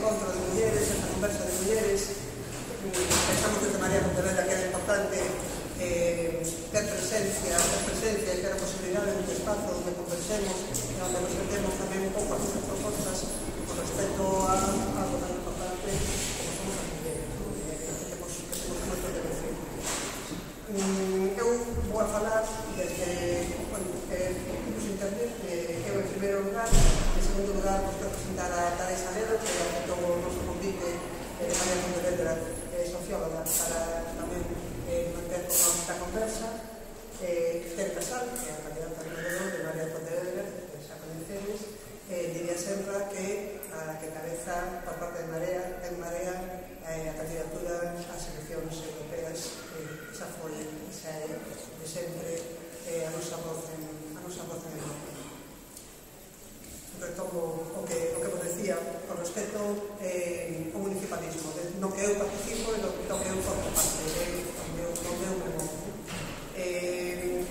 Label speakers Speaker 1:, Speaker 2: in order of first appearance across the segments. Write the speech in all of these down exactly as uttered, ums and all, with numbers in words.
Speaker 1: encontro de mulleres, esta conversa de mulleres. Pensamos desde Marea Pontevedra que era importante eh, ter presencia, ter presencia e ter a posibilidade de un espazo onde conversemos e onde nos metemos tamén un pouco as nosas propostas con respecto a algo tan importante como somos as mulleres, ¿no? eh, que temos, que temos moito que decir. Mm, eu vou a falar desde, bueno, eh, tipos de internet, eh, eu en primeiro lugar, en segundo lugar, vou presentar a Tares Alero, que aceptou o noso convite de Marea Pontevedra, socióloga, para tamén eh, manter con esta conversa. eh, Ter Casal, que é a candidata de Medellín de Marea Pontevedra, que xa conhecedes, eh, diría sempre que a que cabeza por parte de Marea, en Marea eh, a candidatura ás eleccións europeas. eh, esa foi, esa é de sempre eh, a nosa voz en a nosa voz en Europa. Retomo o que, o que vos decía con respecto eh, ao municipalismo, de, no que eu participo e no, no que eu formo parte, de, onde eu, onde eu me movo. Eh,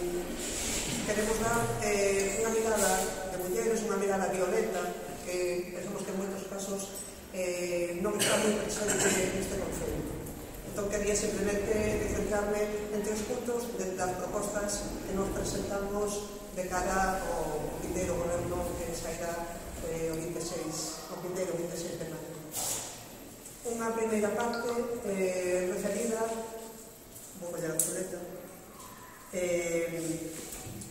Speaker 1: queremos dar eh, unha mirada de mulleres, unha mirada violenta, que pensamos que en moitos casos eh, non está moi presente neste concello. Entón, quería simplemente centrarme en tres puntos de las propostas que nos presentamos de cara ao vindeiro goberno que sairá eh, o veintiséis, o vindeiro veintiséis de maio. Unha primeira parte eh, referida, vou coller a chuleta, eh,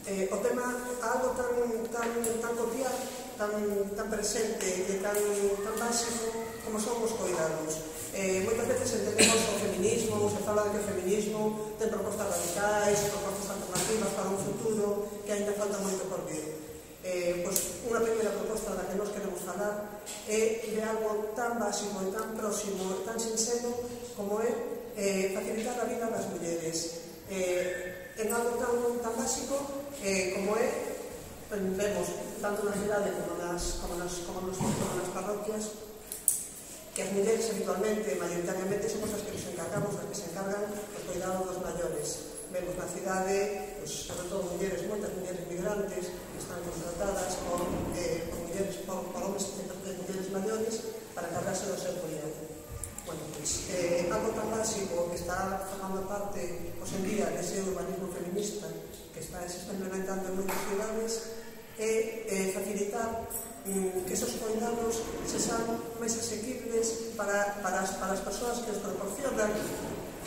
Speaker 1: eh, o tema a algo tan, tan, tan cotidiano, tan, tan presente e tan, tan básico como son os cuidados. Eh, moitas veces entendemos o feminismo, se fala de que o feminismo ten propostas radicais, propostas alternativas para un futuro que ainda falta moito por vir. Eh, pois unha primeira proposta da que nos queremos falar é de algo tan básico e tan próximo e tan sincero como é eh, facilitar a vida das mulleres. Eh, en algo tan, tan básico eh, como é, vemos tanto na cidade como nas, como nas, como nas, como nas parroquias, que as mulleres habitualmente, maioritariamente, somos as que nos encargamos, as que se encargan do cuidado dos maiores. Vemos na cidade, pues, sobre todo mulleres, moitas mulleres migrantes que están contratadas por, eh, por, mulleres, por, por homens de mulleres maiores para encargarse do seu cuidado. Bueno, pues, eh, algo tan básico que está formando parte, pues, en día, dese urbanismo feminista que está, se está implementando en moitas cidades, é eh, facilitar que esos cuidados se sean máis asequibles para, para, as, para as persoas que os proporcionan.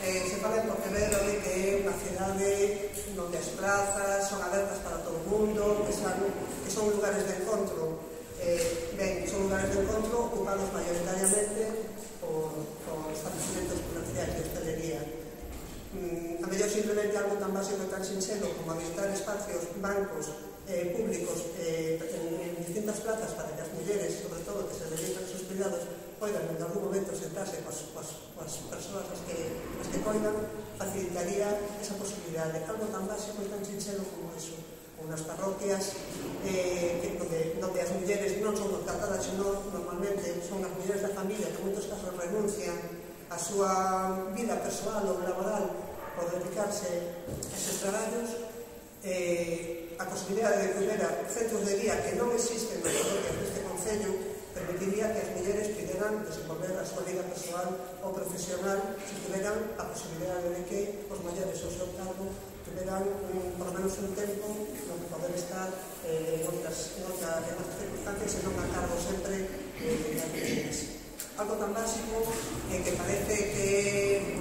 Speaker 1: Eh, se fala en Pontevedra de que é unha cidade onde as plazas son abertas para todo o mundo, que son, que son lugares de encontro. Eh, ben, son lugares de encontro ocupados maioritariamente por, por estabelecimentos comerciais de hostelería. Mm, a mellor simplemente algo tan básico e tan sincero como habilitar espacios, bancos eh, públicos eh, en, en distintas plazas para que as mulleres, sobre todo que se dedican a sus cuidados, poidan en algún momento sentarse coas, coas, coas persoas as que, as que coidan, facilitaría esa posibilidade. Algo tan básico e tan sincero como eso. Unas parroquias eh, que, donde, donde as mulleres non son contratadas, sino normalmente son as mulleres da familia que en moitos casos renuncian a súa vida persoal ou laboral por dedicarse a esos traballos. Eh, a posibilidade de que houbera centros de día que non existen nas parroquias deste concello permitiría que as mulleres puderan desenvolver a súa vida persoal ou profesional se tiveran a posibilidade de que os maiores ao seu cargo tiveran un, por lo menos un tempo no que poder estar eh, en, outras, en, outra, en outras circunstancias e non a cargo sempre eh, de as mulleres. Algo tan básico eh, que parece que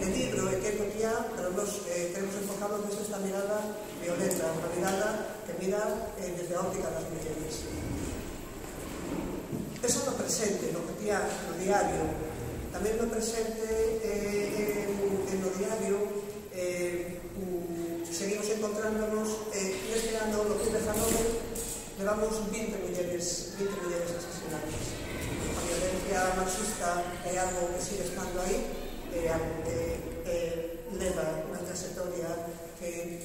Speaker 1: de libro e que é cotidiano, pero nos eh, tenemos enfocado desde esta mirada violenta, unha mirada que mira eh, desde a óptica das mulleres. Eso no presente, no cotidiano, no diario, tamén no presente eh, en, en no diario eh, mm, seguimos encontrándonos eh, neste ano, no dos mil diecinueve, levamos vinte mulleres, vinte mulleres asesinadas. A violencia machista é algo que sigue estando aí, é algo que eh, leva unha trayectoria que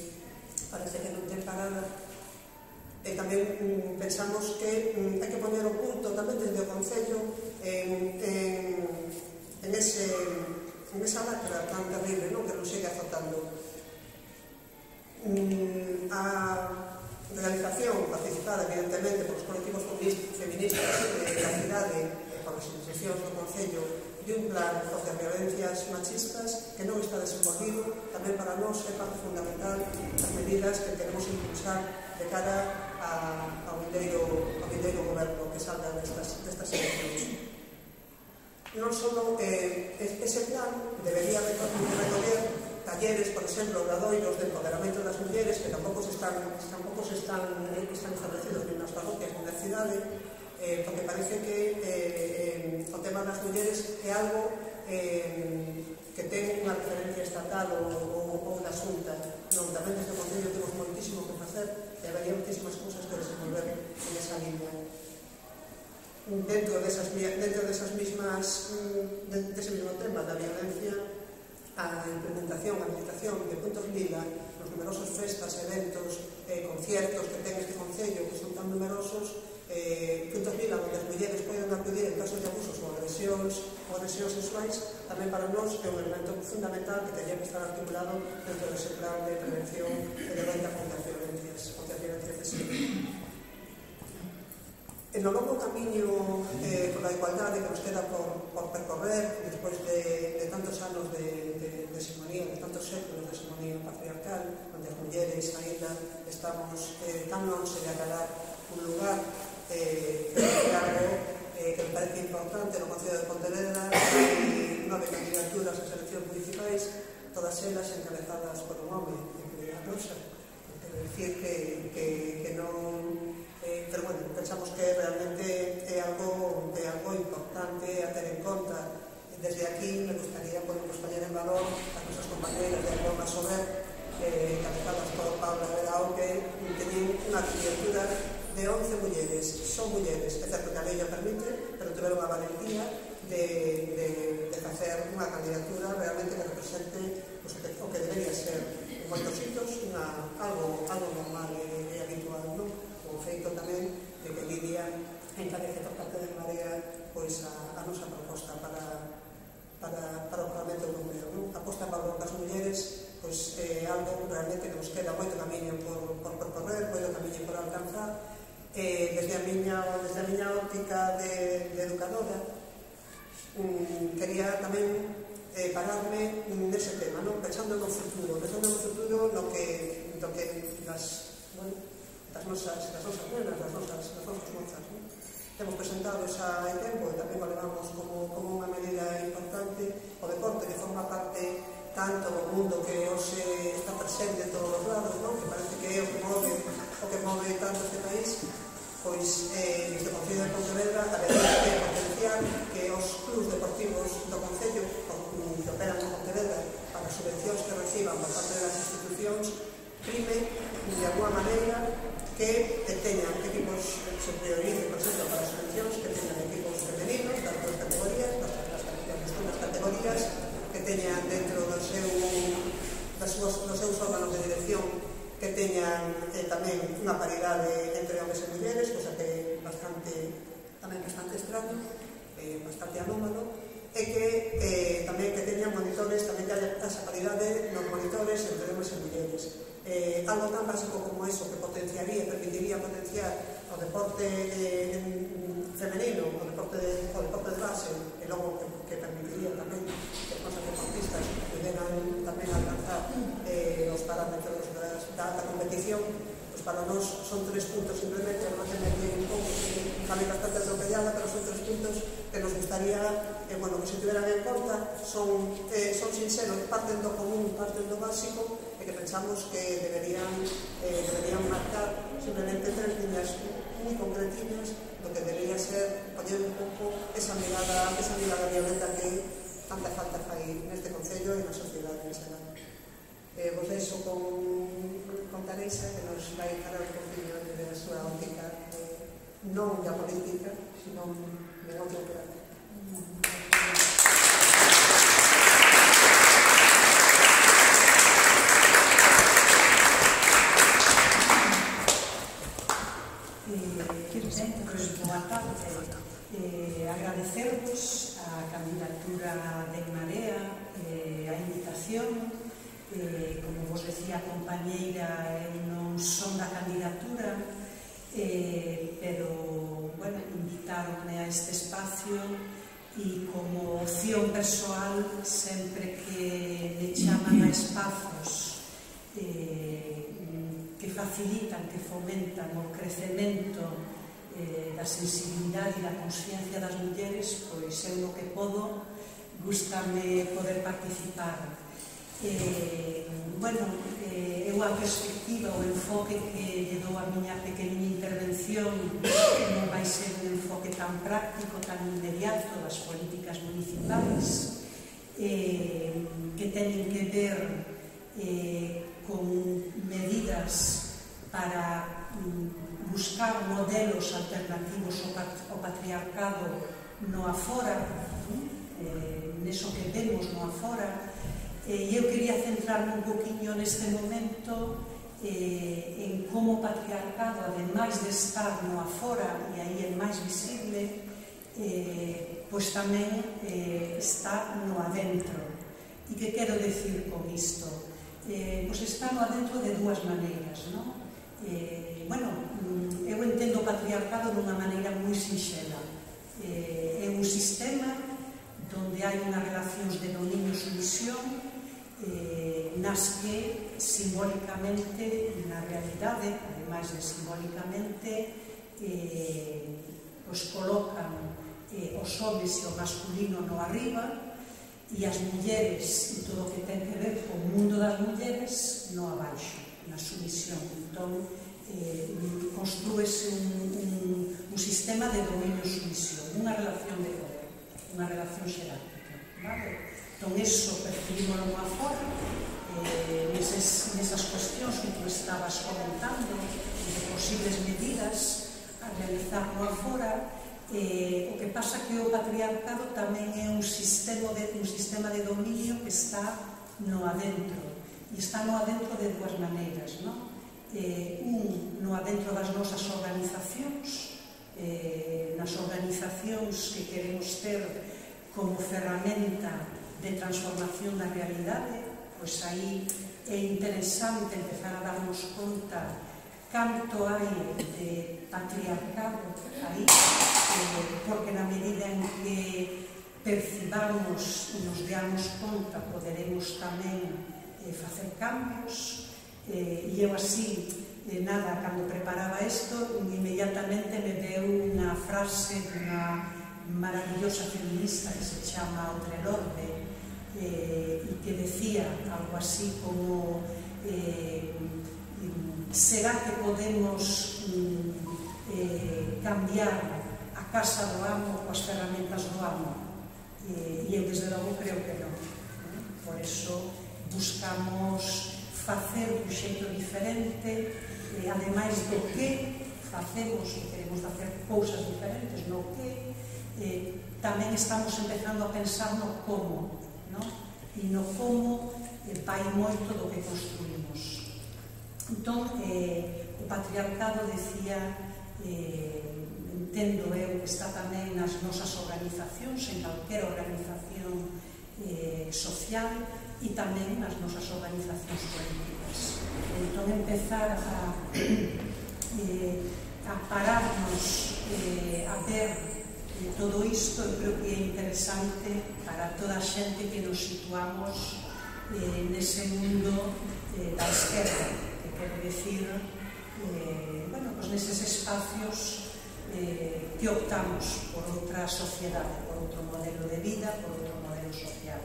Speaker 1: parece que non ten parada. E tamén mm, pensamos que mm, hai que poner o punto tamén desde o Concello en, en, en, ese, en esa lacra tan terrible, non? Que nos sigue azotando. Mm, a realización participada evidentemente por os colectivos feministas de la cidade, por as institucións do Concello de un plan contra as violencias machistas que non está desenvolvido. Tamén para nós é parte fundamental as medidas que queremos impulsar de cara ao vindeiro goberno que salga destas eleccións. Non só ese plan debería recoller talleres, por exemplo, obradoiros de empoderamento das mulleres que tampouco están establecidos nin nas parroquias nin na cidade, porque parece que o tema das mulleres é algo que ten unha referencia estatal ou da Xunta. Non, tamén desde o Concello temos moitísimo que facer e habería moitísimas cousas que desenvolver en esa línea. Dentro desas mismas dese mesmo tema da violencia, a implementación, a habilitación de puntos lila nos numerosos festas, eventos, conciertos que ten este Concello, que son tan numerosos, puntos lila onde as mulleres poden acudir en casos de abusos ou agresións ou agresións sexuais, tamén para nós é un elemento fundamental que teria que estar articulado dentro dese plan de prevención e de loita contra as violencias contra as violencias de xénero. En o longo camiño pola igualdade que nos queda por percorrer despois de tantos anos de hegemonía, de tantos séculos de hegemonía patriarcal, onde as mulleres ainda estamos tan longe de acabar un lugar que é algo que me parece importante no Concello de Pontevedra. Hai nove candidaturas ás eleccións municipais, todas elas encabezadas por un home, que é a nosa. Quero dicir que non... Pero, bueno, pensamos que realmente é algo importante a ter en conta. Desde aquí me gustaría poner en valor as nosas compañeras de Aroma Sober, encabezadas por Paula Verao, que teñen unha candidatura de once mulleres. Son mulleres, é certo que a lei o permite, pero tiveron a valentía de facer unha candidatura realmente que represente o que debería ser en moitos sitios algo normal e habitual, non? O feito tamén de que Lidia encabece por parte de Marea a nosa proposta para o Parlamento Europeo. A posta en valor das mulleres é algo realmente que nos queda moito camiño por percorrer, moito camiño por alcanzar. Desde a miña óptica de educadora, quería tamén pararme nese tema, pensando no futuro, pensando no futuro no que das nosas nenas, das nosas mozas. Temos presentado xa hai tempo e tamén o levamos como unha medida importante o deporte, que forma parte tanto do mundo que hoxe está presente en todos os lados, que parece que é o que move tanto este país. Pois desde o Concello de Pontevedra habería que potenciar que os clubs deportivos do Concello que operan en Pontevedra para as subvencións que reciban por parte das institucións prime de alguma maneira que teñan equipos, se priorice, por exemplo, para as subvencións, que teñan equipos femeninos das duas categorías, das categorías, que teñan dentro dos seus órganos de dirección, que teñan tamén unha paridade entre homens e mulleres, cosa que é tamén bastante extraño, bastante anómalo, e que tamén que teñan monitores, tamén que haya esa paridade nos monitores entre homens e mulleres. Algo tan básico como eso, que potenciaría, permitiría potenciar o deporte femenino, o deporte de base, e logo que permitiría tamén que as nosas deportistas puderan tamén alcanzar os parámetros da alta competición. Pois para nós son tres puntos, simplemente non tener que un pouco, tamén bastante atropellada, pero son tres puntos que nos gustaría que se tiveran en conta. Son sinceros, parten do común, parten do básico, e que pensamos que deberían marcar simplemente tres líneas moi concretinas do que debería ser poñer un pouco esa mirada violenta que tanta falta fai neste Concello e na sociedade en xeral. Vos deixo con Teresa, que nos vai falar un poquinho de a súa óptica non da política, sino de outro plano.
Speaker 2: Boa tarde. Agradecervos a candidatura de Marea, a invitación. Como vos decía a compañeira, eu non son da candidatura, pero, bueno, invitaronme invitarme a este espacio e como opción persoal, sempre que me chaman a espazos eh, que facilitan, que fomentan o crecemento eh, da sensibilidade e da consciencia das mulleres, pois eu no que podo, gústame poder participar. Eh, bueno, eh, eu a perspectiva, o enfoque que lle dou a miña pequeniña intervención non vai ser un enfoque tan práctico, tan inmediato das políticas municipais, eh, que teñen que ver eh, con medidas para mm, buscar modelos alternativos ao patriarcado no afora, eh, neso que vemos no afora. E eu quería centrarme un poquinho neste momento eh, en como o patriarcado, ademais de estar no afora, e aí é máis visible, eh, pois tamén eh, está no adentro. E que quero decir con isto? Eh, pois está no adentro de dúas maneiras, non? Eh, bueno, eu entendo o patriarcado dunha maneira moi sinxela. Eh, é un sistema donde hai unhas relacións de dominio-sumisión Eh, nas que simbólicamente, na realidade, ademais de simbólicamente, eh, os colocan eh, os homens e o masculino no arriba e as mulleres e todo o que ten que ver co mundo das mulleres no abaixo, na sumisión. Entón, eh, construese un, un, un sistema de dominio-sumisión, unha relación de poder, unha relación xerárquica, vale? Entón, iso percibímoslo no afora, eh, neses, nesas cuestións que tú estabas comentando, de posibles medidas a realizar no afora. Eh, o que pasa que o patriarcado tamén é un sistema de, un sistema de dominio que está no adentro, e está no adentro de dúas maneiras, non? Eh, un, no adentro das nosas organizacións, eh, nas organizacións que queremos ter como ferramenta de transformación da realidade, pois aí é interesante empezar a darnos conta canto hai de patriarcado aí, eh, porque na medida en que percibamos e nos deamos conta poderemos tamén eh, facer cambios, eh, e eu así, eh, nada, cando preparaba isto, inmediatamente me deu unha frase dunha maravillosa feminista que se chama Audre Lorde, Eh, y que decía algo así como eh, será que podemos eh, cambiar a casa do amo coas ferramentas do amo, eh, e eu desde logo creo que non, eh? Por eso buscamos facer un xeito diferente, eh, ademais do que facemos e queremos facer cousas diferentes no que, eh, tamén estamos empezando a pensar no como, no? E no como eh, vai moito do que construímos. Entón, eh, o patriarcado, decía, eh, entendo eu que está tamén nas nosas organizacións, en calquera organización eh, social, e tamén nas nosas organizacións políticas. Entón, empezar a, eh, a pararnos eh, a ver todo isto, eu creo que é interesante para toda a xente que nos situamos eh, nese mundo eh, da esquerda, que quero decir, eh, bueno, pues neses espacios eh, que optamos por outra sociedade, por outro modelo de vida, por outro modelo social.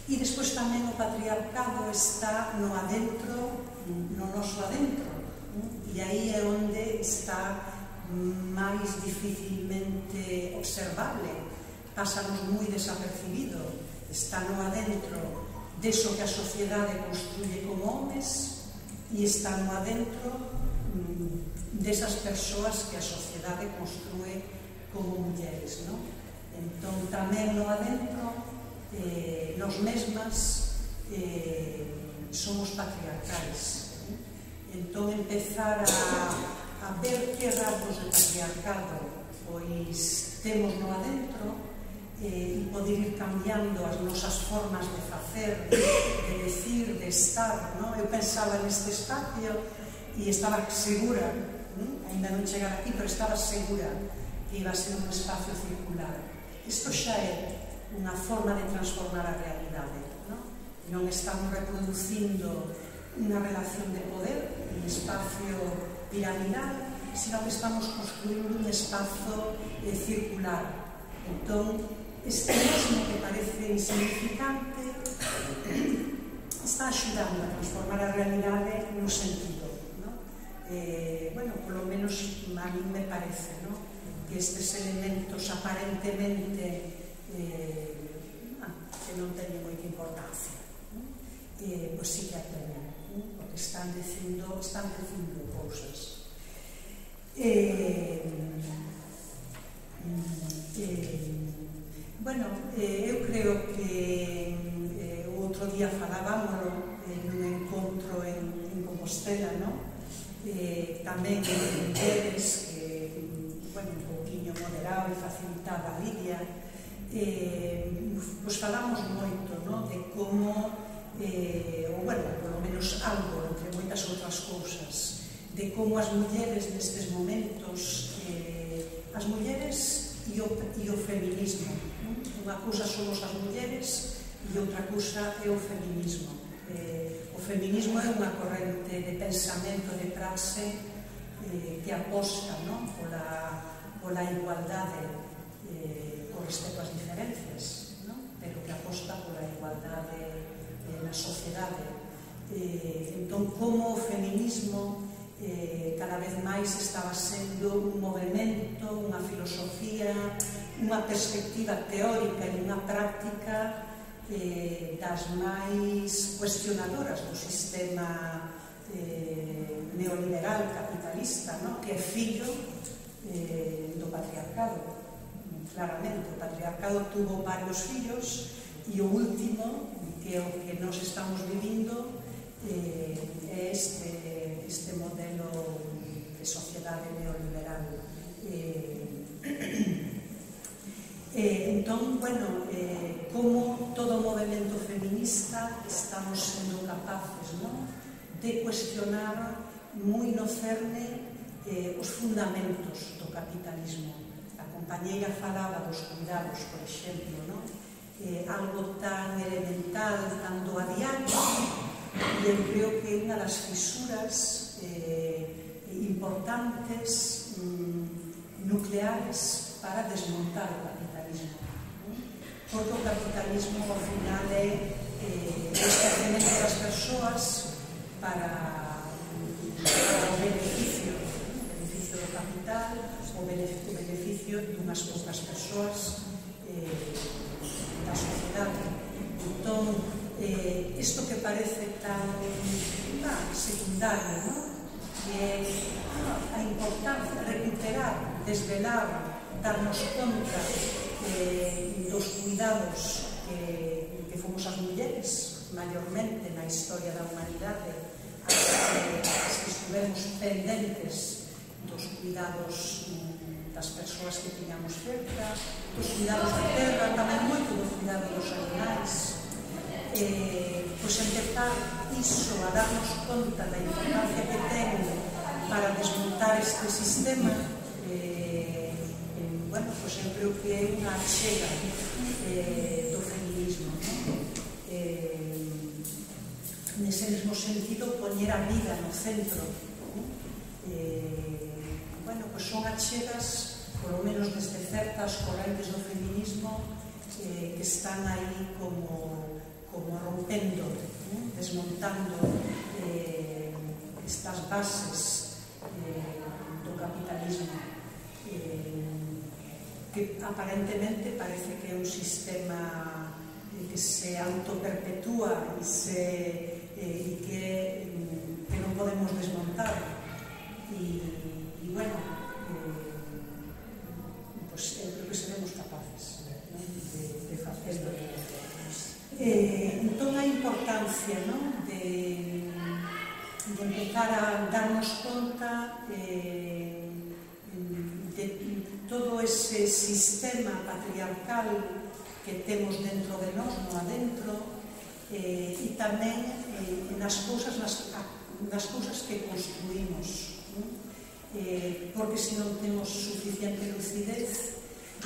Speaker 2: E despois tamén o patriarcado está no adentro, no noso adentro, e aí é onde está máis dificilmente observable, pásanos moi desapercibido, está no adentro deso que a sociedade construye como homes e está no adentro desas persoas que a sociedade construye como mulleres, non? Entón, tamén no adentro, eh, nos mesmas eh, somos patriarcais. Entón, empezar a a ver que rasgos de patriarcado pois temos no adentro eh, e poder ir cambiando as nosas formas de facer, de decir, de estar, no? Eu pensaba neste espacio e estaba segura, ¿no? Ainda non chegar aquí, pero estaba segura que iba a ser un espacio circular. Isto xa é unha forma de transformar a realidade, non? Non estamos reproducindo unha relación de poder, un espacio piramidal, sino que estamos construindo un espazo eh, circular. Entón, este mesmo que parece insignificante está axudando a transformar a realidade no sentido, non? Eh, bueno, polo menos a mí me parece, non? Que estes elementos aparentemente eh, ah, que non teñen moita importancia, non? Eh, pois sí que a teñen, non? Porque están dicindo, están dicindo cousas. Eh, eh, bueno, eh, eu creo que eh, o outro día falábamoslo eh, nun encontro en, en Compostela, non? Eh, tamén en mulleres que, bueno, un pouquinho moderado e facilitaba a Lidia, eh, pois falamos moito, non? De como, eh, ou bueno, polo menos algo, entre moitas outras cousas, de como as mulleres nestes momentos, eh, as mulleres e o, e o feminismo, non? Unha cousa somos as mulleres e outra cousa é o feminismo. Eh, o feminismo é unha corrente de pensamento, de praxe eh, que aposta, non? Pola, pola igualdade eh, con respecto ás diferencias, non? Pero que aposta pola igualdade eh, na sociedade. Eh, entón, como o feminismo eh, cada vez máis estaba sendo un movimento, unha filosofía, unha perspectiva teórica e unha práctica eh, das máis cuestionadoras do sistema eh, neoliberal capitalista, no? Que é fillo eh, do patriarcado. Claramente, o patriarcado tuvo varios fillos e o último, que é o que nos estamos vivindo, eh, é este, este modelo de sociedade neoliberal. Eh, eh, entón, bueno, eh, como todo movimento feminista estamos sendo capaces, ¿no?, de cuestionar moi no cerne eh, os fundamentos do capitalismo. A compañeira falaba dos cuidados, por exemplo, ¿no? Eh, algo tan elemental, tan do a diario, e eu creo que é unha das fisuras eh, importantes, mm, nucleares para desmontar o capitalismo, ¿no? Porque o capitalismo ao final é eh, o establecemento das persoas para, para o beneficio, o beneficio do capital, o beneficio, o beneficio dunhas poucas persoas eh, da sociedade. Entón, eh, isto que parece tan ah, secundario, ¿no?, que é a importancia de recuperar, desvelar, darnos conta eh, dos cuidados que, que fomos as mulleres maiormente na historia da humanidade, as que, as que estivemos pendentes dos cuidados das persoas que tiñamos cerca, dos cuidados da terra, tamén moito do cuidado dos animais. Eh, pois empezar iso, a darnos conta da importancia que ten para desmontar este sistema, eh, eh, bueno, pois eu creo que é unha achega eh, do feminismo, ¿no? Eh, nese mesmo sentido, poñer a vida no centro, ¿no? Eh, bueno, pois son achegas, polo menos desde certas correntes do feminismo, eh, que están aí como como rompendo, ¿no?, desmontando eh, estas bases eh, do capitalismo, eh, que aparentemente parece que é un sistema que se autoperpetúa e, se, eh, y que, que non podemos desmontar. E, y bueno, eh, pues eu creo que seremos capaces, ¿no?, de, de facerlo. Eh, entón, a importancia, ¿no?, de, de empezar a darnos conta eh, de todo ese sistema patriarcal que temos dentro de nós, no adentro, eh, e tamén eh, nas cousas nas, nas cousas que construímos, ¿no? eh, porque se non temos suficiente lucidez,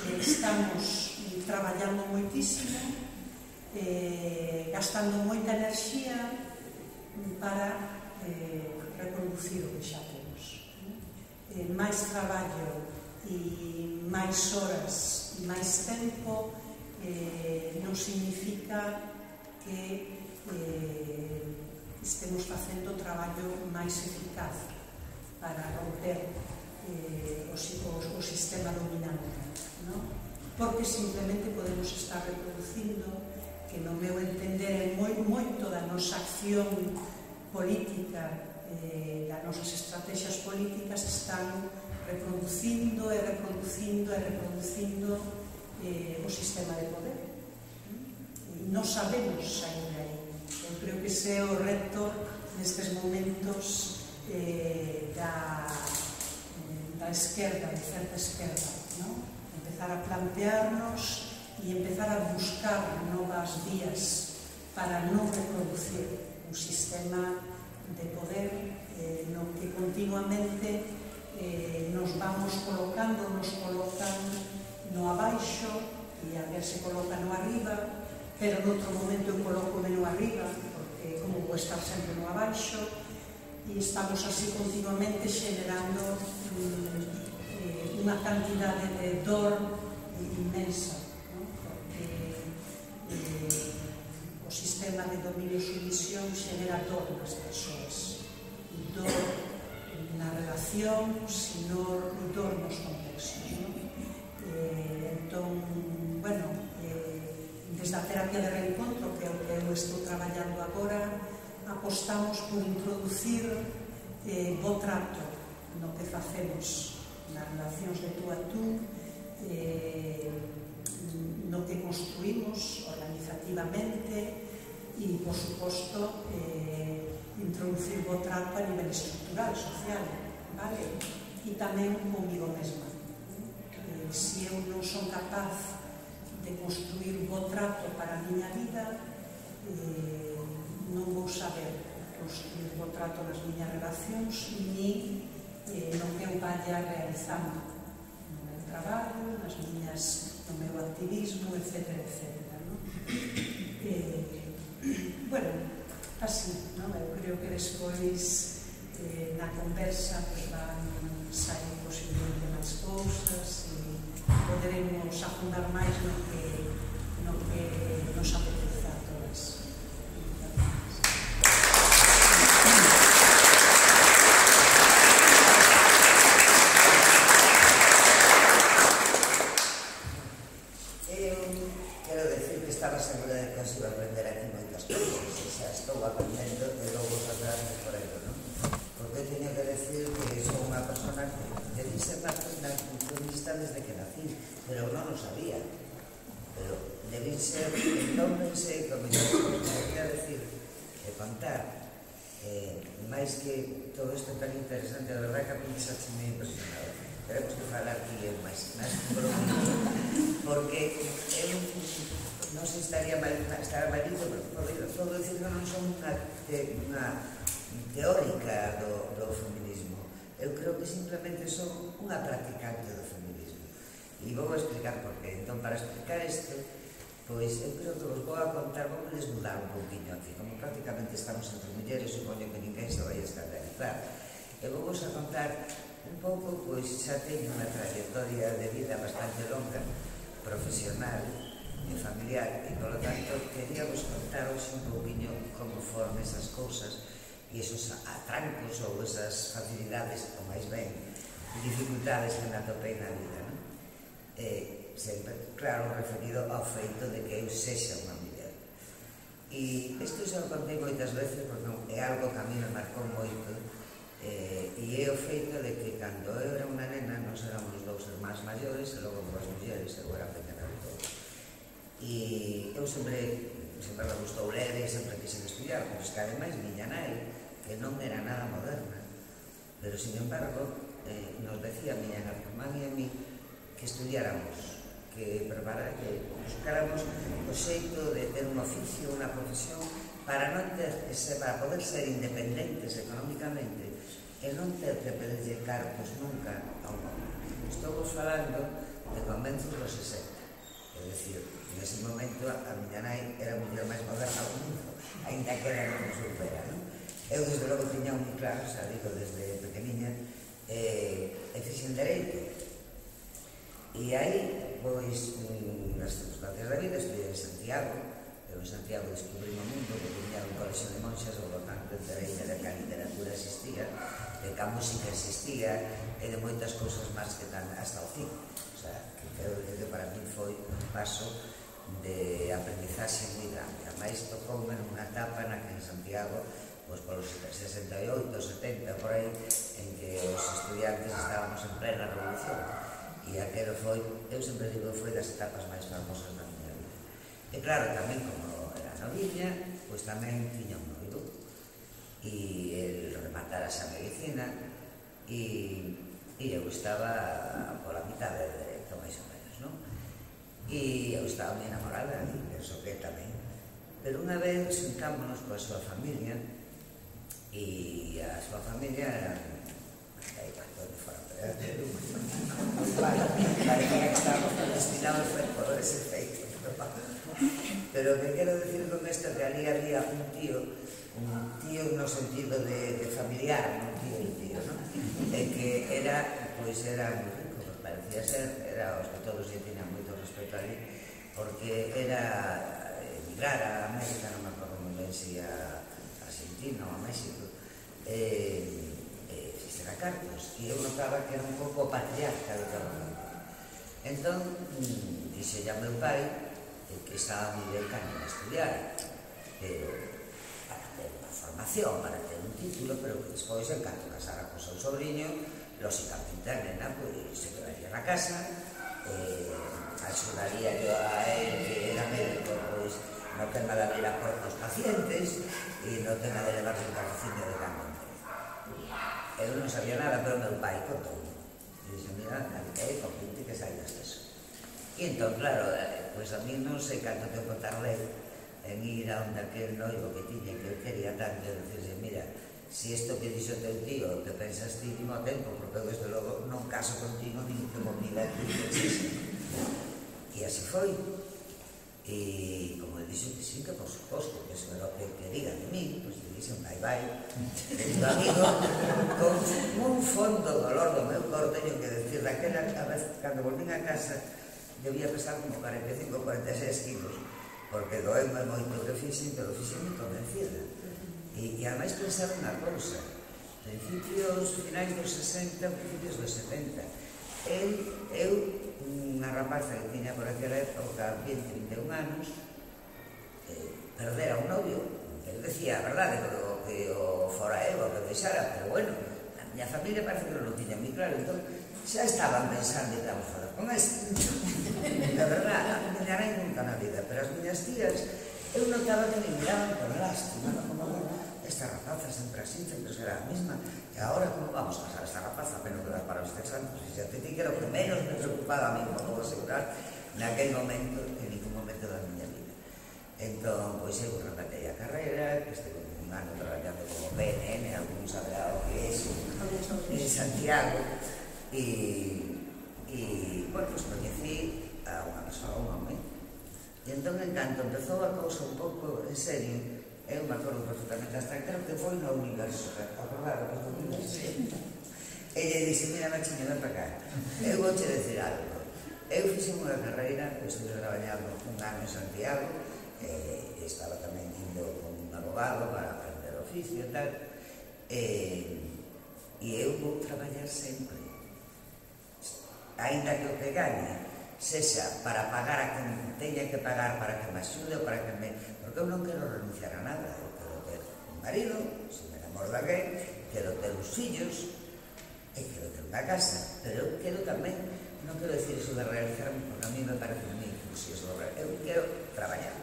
Speaker 2: eh, estamos traballando moitísimo, eh, gastando moita enerxía para eh, reproducir o que xa temos. Eh, máis traballo e máis horas e máis tempo eh, non significa que eh, estemos facendo traballo máis eficaz para romper eh, o, o, o sistema dominante, ¿no? Porque simplemente podemos estar reproducindo, que no meu entender é moi, moito da nosa acción política, eh, das nosas estrategias políticas están reproducindo e reproducindo e reproducindo eh, o sistema de poder. E non sabemos sair de aí. Eu creo que ese é o reto nestes momentos eh, da, da esquerda, de certa esquerda, ¿no? Empezar a plantearnos e empezar a buscar novas vías para non reproducir un sistema de poder eh, no que continuamente eh, nos vamos colocando, nos colocan no abaixo e a ver se coloca no arriba, pero noutro momento eu coloco no arriba, porque como vou estar sempre no abaixo, e estamos así continuamente xenerando mm, eh, unha cantidade de dor inmensa, ¿no? Porque eh, o sistema de dominio e sumisión xenera dor nas persoas, e dor na relación, sino dor nos contextos, ¿no? Eh, entón, bueno, eh, desde a terapia de reencontro, que é o que eu estou traballando agora, apostamos por introducir eh, bo trato no que facemos nas relacións de tú a tú, eh, no que construímos organizativamente e, por suposto, eh, introducir bo trato a nivel estructural, social, vale? E tamén comigo mesma. Eh, se eu non son capaz de construir bo trato para a miña vida, eh, non vou saber construir bo trato nas miñas relacións, ni eh, no que eu vaya realizando no meu traballo, nas miñas, no meu activismo, etcétera, etcétera, ¿no? Eh, bueno, así, ¿no? Eu creo que despois eh, na conversa pues, van sair posiblemente máis cousas e poderemos afundar máis no que, no que nos apetece a todas.
Speaker 3: Pero non o sabía. Pero debí ser, entón pensei que o mellor que quería decir e contar, eh, máis que todo isto tan interesante, a verdade que a mí xa se me impresionado. Teremos que falar aquí en máis, máis por un minuto, porque eu non sei se estaría mal, estará malito, pero podo dicir que non son unha, te, unha teórica do, do feminismo. Eu creo que simplemente son unha practicante do feminismo. E vou a explicar por qué. Entón, para explicar isto, pois eu creo que vos vou a contar, vou desnudar un pouquinho aquí, como prácticamente estamos entre mulleres, supoño que ninguén se vai a escandalizar. E vou vos a contar un pouco, pois xa teño unha trayectoria de vida bastante longa, profesional e familiar, e polo tanto quería vos contar hoxe un pouquinho como foron esas cousas e esos atrancos ou esas facilidades, ou máis ben, dificultades que me atopei na vida, non? Eh, sempre, claro, referido ao feito de que eu sexa unha muller. E isto xa o contei moitas veces porque é algo que a mí me marcou moito, eh, e é o feito de que cando eu era unha nena nos éramos os dous irmáns maiores e logo dúas mulleres, eu era pequena de todo. E eu sempre, sempre me gustou ler e sempre quixen estudiar, pois que ademais miña nai, que non era nada moderna, pero sin embargo eh, nos decía miña irmán e a mí que estudiáramos, que preparar, que buscáramos o xeito de ter un oficio, unha profesión, para non ter ese, para poder ser independentes económicamente e non ter que pedirlle cartos nunca a un home. Estou falando de comenzos dos sesenta. É dicir, nese momento a miña nai era a muller máis moderna do mundo, ainda que era non supera, non? Eu, desde logo, tiña moi claro, xa digo, desde pequeniña, e fixen dereito. E aí, pois, nas circunstancias da vida, estudiei en Santiago. Eu en Santiago descubrí o mundo, que tiña un colexio de monxas, por lo tanto, entereime de que a literatura existía, de que a música existía, e de moitas cousas máis que tan hasta o fin. O sea, que quero dicir que para mí foi un paso de aprendizaxe moi grande. A máis tocoume nunha etapa na que en Santiago, pois polos sesenta e oito, setenta, por aí, en que os estudiantes estábamos en plena revolución. E aquelo foi, eu sempre digo, foi das etapas máis famosas da miña vida. E claro, tamén, como era noviña, pois tamén tiña un noivo. E el rematara xa medicina, e eu estaba pola mitad de dereito, máis ou menos, non? E eu estaba moi enamorada, e penso que tamén. Pero unha vez xuntámonos coa súa familia, e a súa familia era aí cando me fora para parecía que estábamos destinados por ese feito, pero o que quero decir con isto é que ali había un tío, un tío no sentido de familiar, un tío e tío, non? E que era, pois era moi rico, parecía ser, era os que todos lle tiñan moito respeto ali, porque era emigrar a América, non me acordo moi ben se a Argentina ou a México, e fixera cartos, e eu notaba que era un pouco patriarca de todo o mundo. Entón, dixe a meu pai que estaba moi ben cano a estudiar, pero para ter unha formación, para ter un título, pero que despois, en canto casara con seu sobrinho, lóxicamente a nena, pois, se quedaría na casa, axudaría yo a él, que era médico, pois, no tema de abrir a porta aos pacientes e no tema de levarse un cafecino de cambio. Eu non sabía nada, pero meu pai contou. E dixe, mira, é convinte que saias deso. E entón, claro, pois a mí non sei canto tempo tardei en ir a onde aquel noivo que tiña, que eu quería tanto, e dicirse, mira, si isto que dixo teu tío, que pensas ti, timo tempo, porque eu, desde logo, non caso contigo, nin que mo pida que dixese. E así foi. E como ele dixo que sí, que por suposto, que eso era o que quería de mí, pois le dixen bye bye. E do amigo, con un fondo dolor do meu cor, teño que decir, daquela vez, cando volvín a casa, debía pesar como cuarenta e cinco, cuarenta e seis kilos, porque doeu-me moito que fixen, pero fixen moi convencida. E, e ademais pensar unha cousa, principios finais dos sesenta, principios dos setenta, el, eu, unha rapaza que tiña por aquela época vinte, vinte e un anos, perdera un novio. El decía a verdade que o fora eu, o que deixara, pero bueno, a miña familia parece que non o tiña moi claro, entón xa estaban pensando que íbamos falar con este. De verdade, a miña nai nunca na vida, pero as miñas tías, eu notaba que me miraban con lástima, como esta rapaza sempre así, sempre será a mesma, e agora como vamos a casar esta rapaza, menos que dar para os texanos, e xa te di que era o que menos me preocupaba a mí, como vou asegurar, naquel momento, en ningún momento da miña vida. Entón, pois eu rematei a carreira, que estive un ano traballando como P N N, algún saberá o que é iso, en Santiago, e, e, bueno, pues coñecí a unha persoa, un home, e entón, en canto empezou a cousa un pouco en serio, eu me acordo perfectamente, hasta creo que foi no universo, acordado que foi no universo. E lle dixe, mira, machiño, ven para cá, eu vou che decir algo. Eu fixe unha carreira, eu estive traballando un ano en Santiago, e estaba tamén indo con un abogado para aprender oficio e tal, e eu vou traballar sempre. Ainda que o que gañe sexa para pagar a quen teña que pagar para que me axude ou para que me... Porque eu non quero renunciar a nada. Eu quero ter un marido, se me enamoro de alguén, quero ter uns fillos e quero ter unha casa. Pero eu quero tamén, non quero decir iso de realizarme, porque a mí me parece moi inclusivo. Eu quero traballar.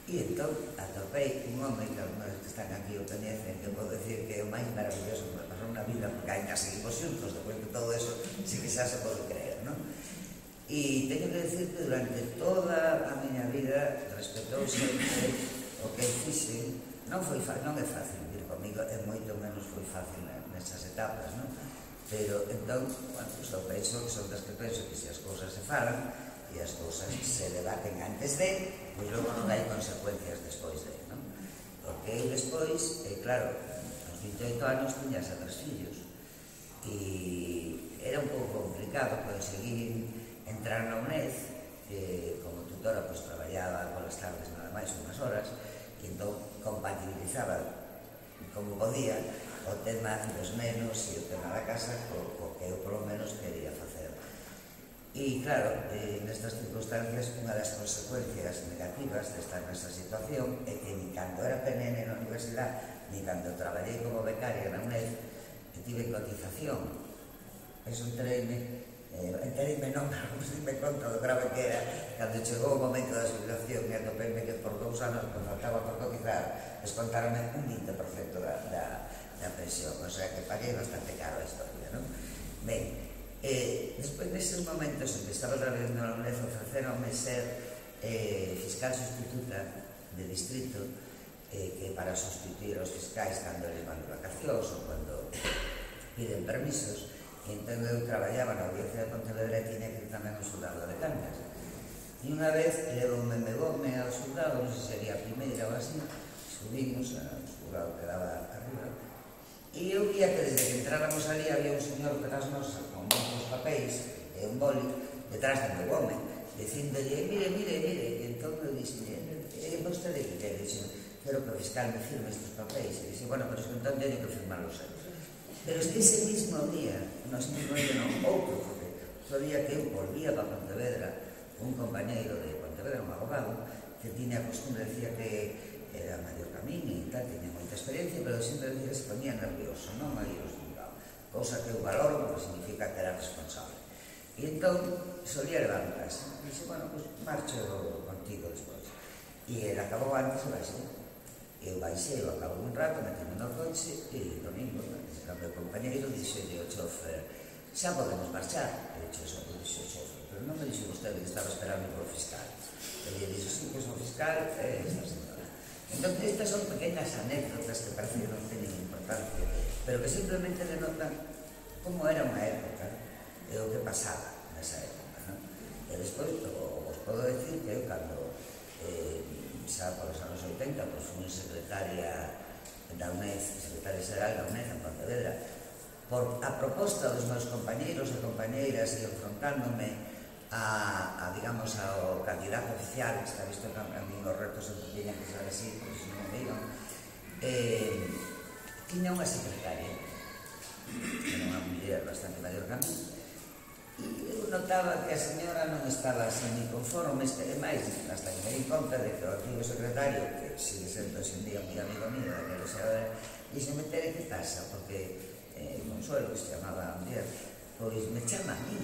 Speaker 3: E entón atopei un home que algunos que están aquí o coñecen, que podo decir que é o máis maravilloso que me pasou na vida, porque ainda seguimos xuntos, depois de todo eso, si que xa se pode creer, non? E teño que decir que durante toda a miña vida respetou sempre o que fixe, non foi fácil, non é fácil vivir comigo, e moito menos foi fácil nesas etapas, non? Pero, entón, bueno, pues, eu penso que son das que penso que se as cousas se falan e as cousas se debaten antes de, pois logo non hai consecuencias despois de, non? Porque eu despois, eh, claro, aos vinte e oito anos tiña xa tres fillos e era un pouco complicado conseguir entrar na UNED, que como tutora pues traballaba polas tardes nada máis unhas horas, e entón compatibilizaba como podía o tema dos nenos e o tema da casa co, co que eu polo menos quería facer. E claro, eh, nestas circunstancias unha das consecuencias negativas de estar nesa situación é que ni cando era P N N na universidade ni cando traballei como becaria na UNED que tive cotización. Eso entereime Eh, entereime non, pero non se me conta do grave que era cando chegou o momento da jubilación e atopeime que por dous anos que faltaba por cotizar descontarme un vinte por cento da, da, da pensión, o sea que paguei bastante caro a historia, non? Ben, eh, despois deses momentos en que estaba traballando na UNED ofreceronme ser eh, fiscal sustituta de distrito, eh, que para sustituir os fiscais cando eles van de vacacións ou cando piden permisos. Entón eu traballaba na audiencia de Pontevedra e tiña que ir tamén ao xulgado de Cangas. E unha vez levoume megome ao xulgado, non sei se sería a primeira ou así, subimos ao xulgado que daba arriba, e eu via que desde que entráramos ali había un señor que das nosas con moitos papéis e un boli detrás de megome, dicindolle, mire, mire, mire, e entón eu dixen, e vostede que quere? Dixen, quero que o fiscal me firme estes papéis. E dixen, bueno, pero es que entón teño que firmarlos eu. Pero es que ese mismo día, nos mismo día non, outro, porque outro día que eu volvía para Pontevedra, un compañeiro de Pontevedra, un abogado, que tiña a costumbre, decía que era maior camiño e tal, tiña moita experiencia, pero sempre decía que se ponía nervioso, non aí os xulgados, cousa que eu valoro, porque significa que era responsable. E entón, solía levar en casa. E dixo, bueno, pues marcho contigo despois. E ele acabou antes e baixei. Eu baixei, eu acabo un rato, metíme no coche e domingo, o meu compañeiro dixelle ao chofer, xa podemos marchar. E dixo, xa dixo o chofer, pero non me dixo vostede que estaba esperando por fiscal. E lle dixo, sí, que son fiscal, e esta señora. Entón, estas son pequeñas anécdotas que parece que non teñen importancia, pero que simplemente denotan como era unha época e o que pasaba nesa época, non? E despois, os podo decir que eu, cando eh, xa polos anos oitenta, pois fui secretaria da UNED, secretaria xeral da UNED en Pontevedra, por a proposta dos meus compañeiros e compañeiras e enfrontándome a, a digamos, ao candidato oficial, que está visto que a mí os retos sempre tiñan que ser así, pois non me iban, eh, tiña unha secretaria, que era unha muller bastante maior que a mí, e eu notaba que a señora non estaba así ni conforme, e máis, hasta que me di conta de que o antigo secretario, que sigue sendo hoxe en día moi amigo mío, daquela xeadora, dixo, me tere que pasa, porque eh, Consuelo, que se chamaba a muller, pois me chama a mí,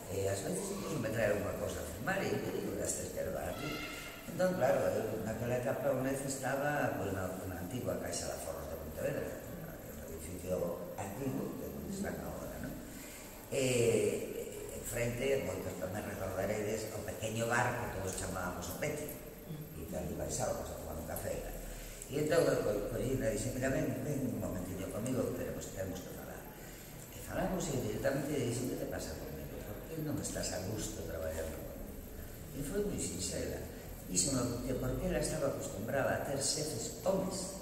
Speaker 3: e ás veces me traer unha cosa a firmar, e eu digo, gastes que ervar aquí. Entón, claro, eu naquela etapa unha vez estaba pois, na, na antigua Caixa de Aforros de Pontevedra, un edificio antigo, que non está agora, non? E frente, moitos tamén recordaredes, o pequeño bar que todos chamábamos o Peti, e que ali baixábamos a tomar un café. E entón, Corina dixe, mira, ven, ven un momentinho comigo, que tenemos, tenemos que falar. E falamos e directamente dixe, que te pasa comigo? Por que non estás a gusto traballando comigo? E foi moi sincera. Dixo que porque ela estaba acostumbrada a ter xefes homes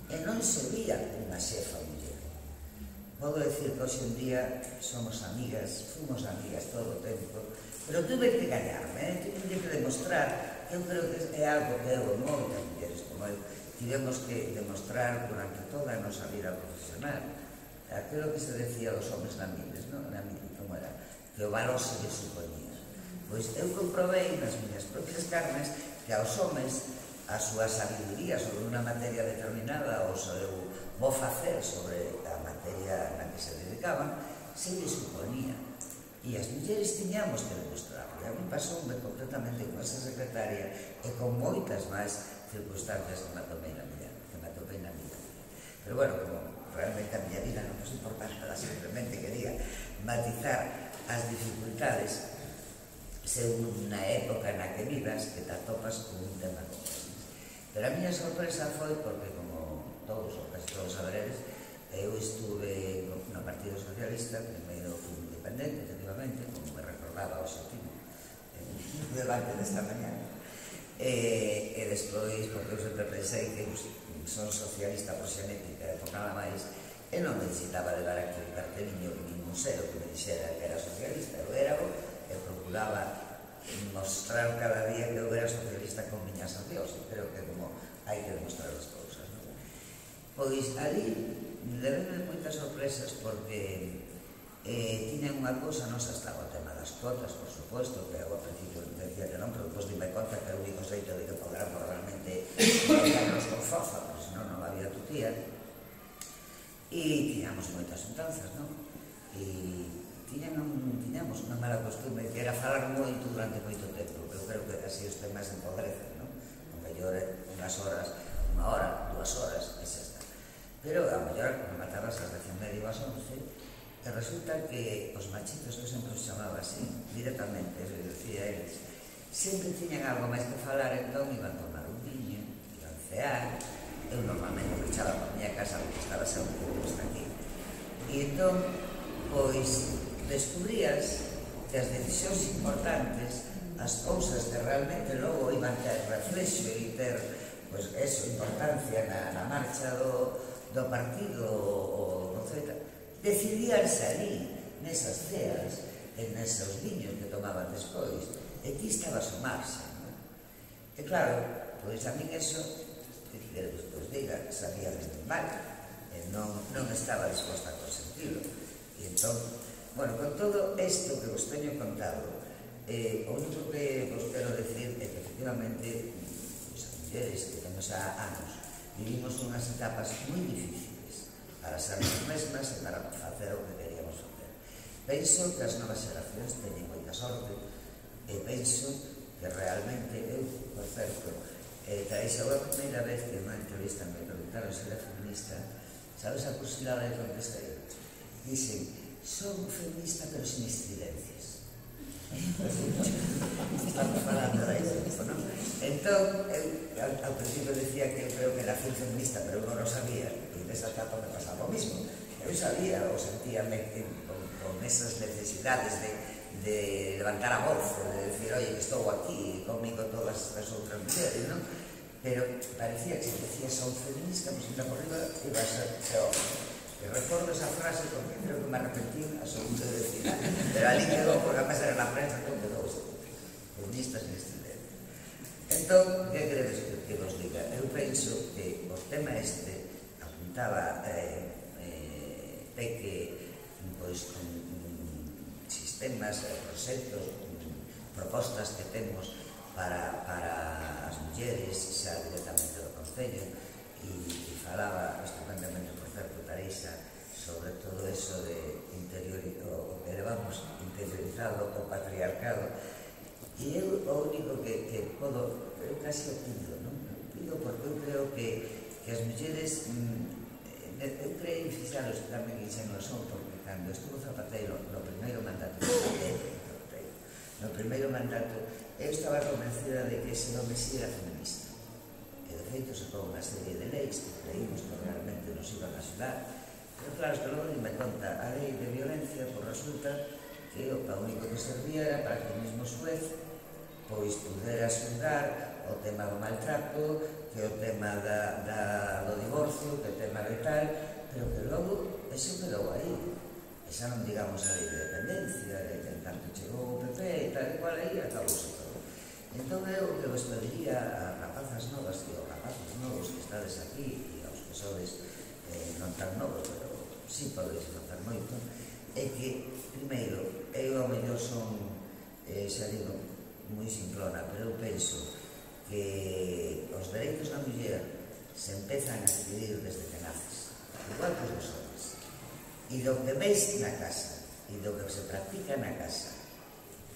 Speaker 3: e non se vía unha xefa muller. Podo decir que hoxe en día somos amigas, fomos amigas todo o tempo, pero tuve que gañarme, eh? tuve que demostrar, que eu creo que é algo que eu, moitas mulleres como eu, tivemos que demostrar durante toda a nosa vida profesional. Aquilo que se decía dos homens na miles, non? Na miles, como era? Que o valor se lle suponía. Pois eu comprobei nas miñas propias carnes que aos homens a súa sabiduría sobre unha materia determinada ou o seu bo facer sobre a materia na que se dedicaban se lle suponía. E as mulleres tiñamos que demostrarlo. E a mí pasoume completamente con esa secretaria e con moitas máis circunstancias que me atopei na vida, que me atopei na vida. Pero bueno, como realmente a miña vida non nos importa nada, simplemente quería matizar as dificultades según na época na que vivas que te atopas con un tema como este. Pero a miña sorpresa foi porque, como todos, ou casi todos saberedes, eu estuve no Partido Socialista, primeiro fui independente, efectivamente, como me recordaba o Xotino, no debate desta mañana, e, e despois, porque eu sempre pensei que son socialista por xenética e por nada máis, e non necesitaba levar aquí un carteliño que ningún cero que me dixera que era socialista, eu era o e procuraba mostrar cada día que eu era socialista con miñas accións, creo que como hai que demostrar as cousas, non? Pois ali levenme moitas sorpresas porque eh, tiñen unha cousa, non xa estaba o tema das cuotas, por suposto, que eu ao principio decía que non, pero depois dime conta que o único xeito de que podamos realmente negarnos con forza, porque senón non había tutía, e tiñamos moitas xuntanzas, non? E tiñamos unha mala costume que era falar moito durante moito tempo, que eu creo que así os temas empodrecen, non? O mellor unhas horas, unha hora, dúas horas, e xa está. Pero a mellor rematabas as dez e media ou as once, e resulta que os machitos, eu sempre os chamaba así, directamente, eu decía a eles, sempre tiñan algo máis que falar, entón iban tomar un viño, iban cear, eu normalmente pechaba por miña casa porque estaba sempre posto aquí. E entón, pois, descubrías que as decisións importantes, as cousas que realmente logo iban ter reflexo e ter, pois, eso, importancia na, na marcha do, do partido ou do Z, decidíanse ali, nesas ceas, e nesos viños que tomaban despois, e ti estabas o marxa, non? E claro, pois a min eso, que queredes que os diga, sabía desde mal, e non, non estaba disposta a consentirlo. E entón, bueno, con todo isto que vos teño contado, eh, o único que vos quero decir é que efectivamente as mulleres que temos a anos vivimos unhas etapas moi difíciles para ser as mesmas e para facer o que queríamos facer. Penso que as novas xeracións teñen moita sorte e penso que realmente eu, por certo, eh, traíxe a primeira vez que unha entrevista me preguntaron se era feminista, sabes a cursilada de contestei? Dixen, son feminista pero sin estridencias. Estamos falando de iso, non? Entón, eu ao principio decía que eu creo que era fin feminista, pero eu non o sabía, e nesa etapa me pasaba o mismo. Eu sabía, ou sentíame con, con esas necesidades de, de levantar a voz, de decir, oye, que estou aquí, comigo todas as outras mulheres, non? Pero parecía que se decía son feminista, pois pues, por riba iba a ser peor. E recordo esa frase porque creo que me arrepentí a segundo de decir, pero ali quedou, porque a pesar na prensa que quedou feministas sin estridencia. Entón, que queredes que vos diga? Eu penso que o tema este apuntaba eh, eh, Peque, pois, con sistemas, proxectos, propostas que temos para, para as mulleres, xa directamente do Concello, e, e falaba estupendamente, por certo, Tareixa, sobre todo eso de interior, o que levamos interiorizado, o patriarcado. E eu o único que, que podo, eu casi o pido, non? Pido porque eu creo que, que as mulleres, mm, eu creo fixaros tamén que xa non son, porque cando estuvo Zapatero no primeiro mandato de Zapatero, no primeiro mandato, eu estaba convencida de que ese nome si era feminista. E de feito sacou unha serie de leis que creímos que realmente nos iban a axudar. Pero claro, que logo me conta a lei de violencia, pois resulta que o único que servía era para que o mesmo juez pois pudera xulgar o tema do maltrato, que o tema da, da, do divorcio, que o tema de tal, pero que logo eso quedou aí. E xa non digamos a lei de dependencia, de que en tanto chegou o P P e tal e cual aí, acabouse todo. Entón eu o que vos pediría a rapazas novas e aos rapazos novos que estades aquí e aos que sodes eh, non tan novos, pero sí podeis notar moito, é que, primeiro, eu ao mellor son, eh, xa digo, moi simplona, pero eu penso que os dereitos da muller se empezan a decidir desde que naces, igual que os dos homens. E do que veis na casa, e do que se practica na casa,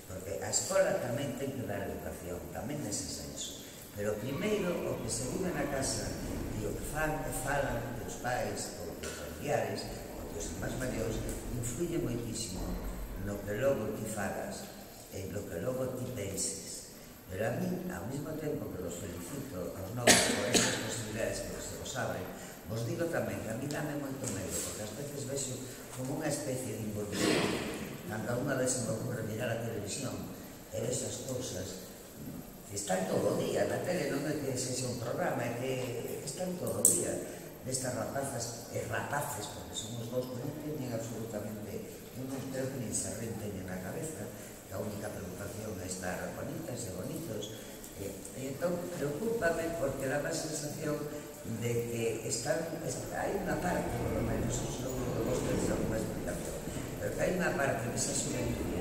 Speaker 3: porque a escola tamén ten que dar educación, tamén nese senso, pero primeiro o que se vive na casa e o que fan e falan dos pais ou dos familiares ou dos máis maiores influye moitísimo no que logo ti fagas e no que logo ti penses. Pero a mí, ao mesmo tempo que los felicito aos novos por estas posibilidades que se vos abren, vos digo tamén que a mí dame moito medo, porque ás veces vexo como unha especie de involución. Cando a unha vez se me ocurre mirar a televisión e vexo as cousas que están todo o día na tele, non é que sexa un programa, é que están todo o día destas rapazas e rapaces, porque somos dous que non teñen absolutamente, non creo que nin se renten na cabeza, que a única preocupación é estar bonitas e bonitos. E, e entón, preocúpame porque dá a sensación de que están, hai unha parte, por lo menos, seguro que vos tenéis alguna explicación, pero que hai unha parte desa xuventude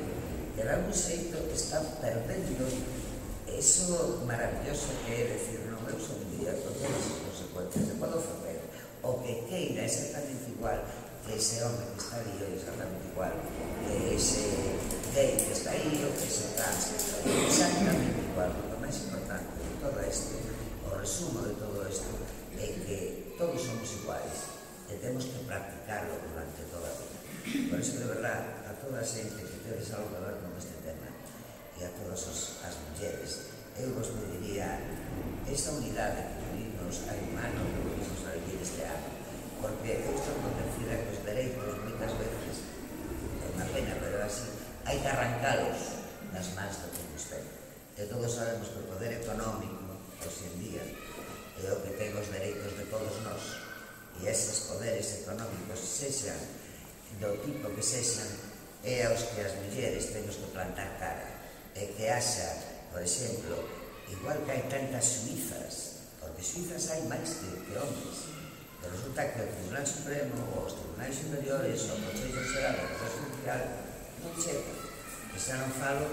Speaker 3: que de algún xeito están perdendo eso maravilloso que é decir, non, eu son un día con todas as consecuencias, eu podo facer o que queira exactamente igual que ese home que está aí, ou exactamente igual que ese gay que está aí, ou que ese trans que está aí, exactamente igual. O máis importante de todo isto, o resumo de todo isto, é que todos somos iguais e temos que practicarlo durante toda a vida. Por iso, de verdad, a toda a xente que tedes algo que ver con este tema e a todas as mulleres, eu vos pediría esa unidade que vivimos hai un ano que vivimos a vivir este ano, porque eu estou convencida que os dereitos moitas veces é unha pena, pero así hai que arrancalos nas mans do que nos ten. E todos sabemos que o poder económico hoxe en día é o que ten os dereitos de todos nós, e eses poderes económicos sexan do tipo que sexan é aos que as mulleres temos que plantar cara, e que haxa, por exemplo, igual que hai tantas suizas, porque suizas hai máis que, que homes, pero resulta que o Tribunal Supremo, ou os Tribunais Superiores, ou o Consello Xeral do Poder Judicial non chega. E xa non falo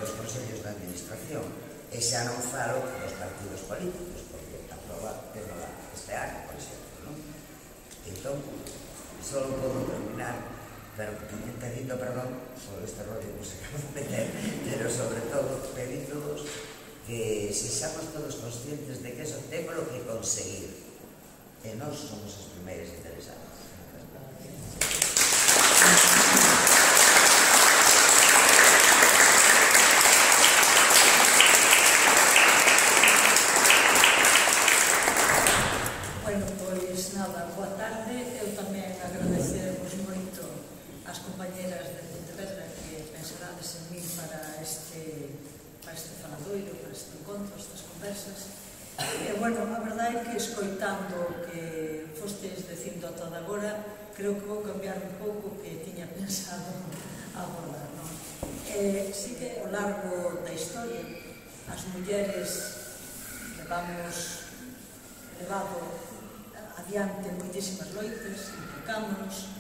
Speaker 3: dos consellos de administración, e xa non falo dos partidos políticos, porque aproba este ano, por exemplo, non? Entón, só podo terminar, pero pedindo perdón por este rollo que se acaba de meter, pero sobre todo pedíndovos que sexamos todos conscientes de que eso temos que conseguir, e nós somos os primeiros interesados.
Speaker 4: Bueno, pois nada, boa tarde. Eu tamén agradecervos moito ás compañeras de Pontevedra que pensarades en mí para este, para este faladoiro, para este encontro, estas conversas. E, bueno, a verdade é que escoitando o que fostes dicindo ata agora, creo que vou cambiar un pouco o que tiña pensado abordar, non? E, sí que ao largo da historia as mulleres levamos levado adiante moitísimas loitas, implicámonos,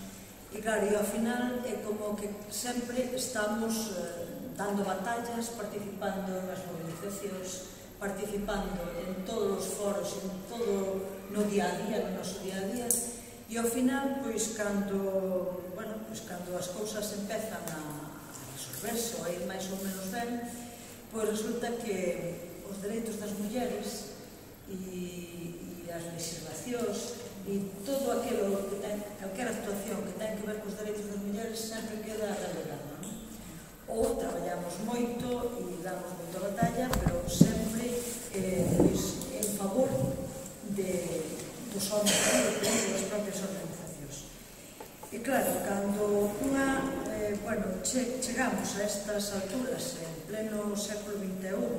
Speaker 4: e claro, e ao final é como que sempre estamos eh, dando batallas, participando nas movilizacións, participando en todos os foros, en todo no día a día, no noso día a día, e ao final, pois, cando, bueno, pois, cando as cousas empezan a, a resolverse ou a ir máis ou menos ben, pois resulta que os dereitos das mulleres e, e as legislacións e todo aquilo que ten, calquera actuación que ten que ver cos dereitos das mulleres sempre queda relegada, non? Ou traballamos moito e damos moita batalla, pero sempre eh, pois, en favor de, dos homens e das propias organizacións. E claro, cando unha, eh, bueno, che, chegamos a estas alturas en pleno século vinte e un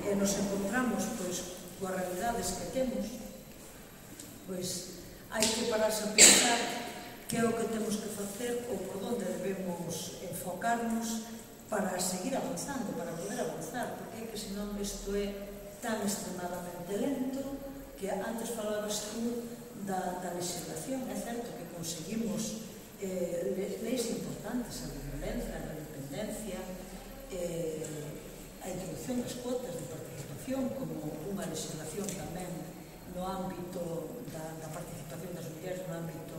Speaker 4: e nos encontramos pois, coas realidades que temos, pois hai que pararse a pensar que é o que temos que facer ou por onde debemos enfocarnos para seguir avanzando, para poder avanzar, porque é que senón isto é tan extremadamente lento que antes falabas tú da, da legislación. É certo que conseguimos eh, leis importantes, a violencia, a independencia, eh, a introducción das cuotas de participación como unha legislación tamén no ámbito da, da participación das mulleres no ámbito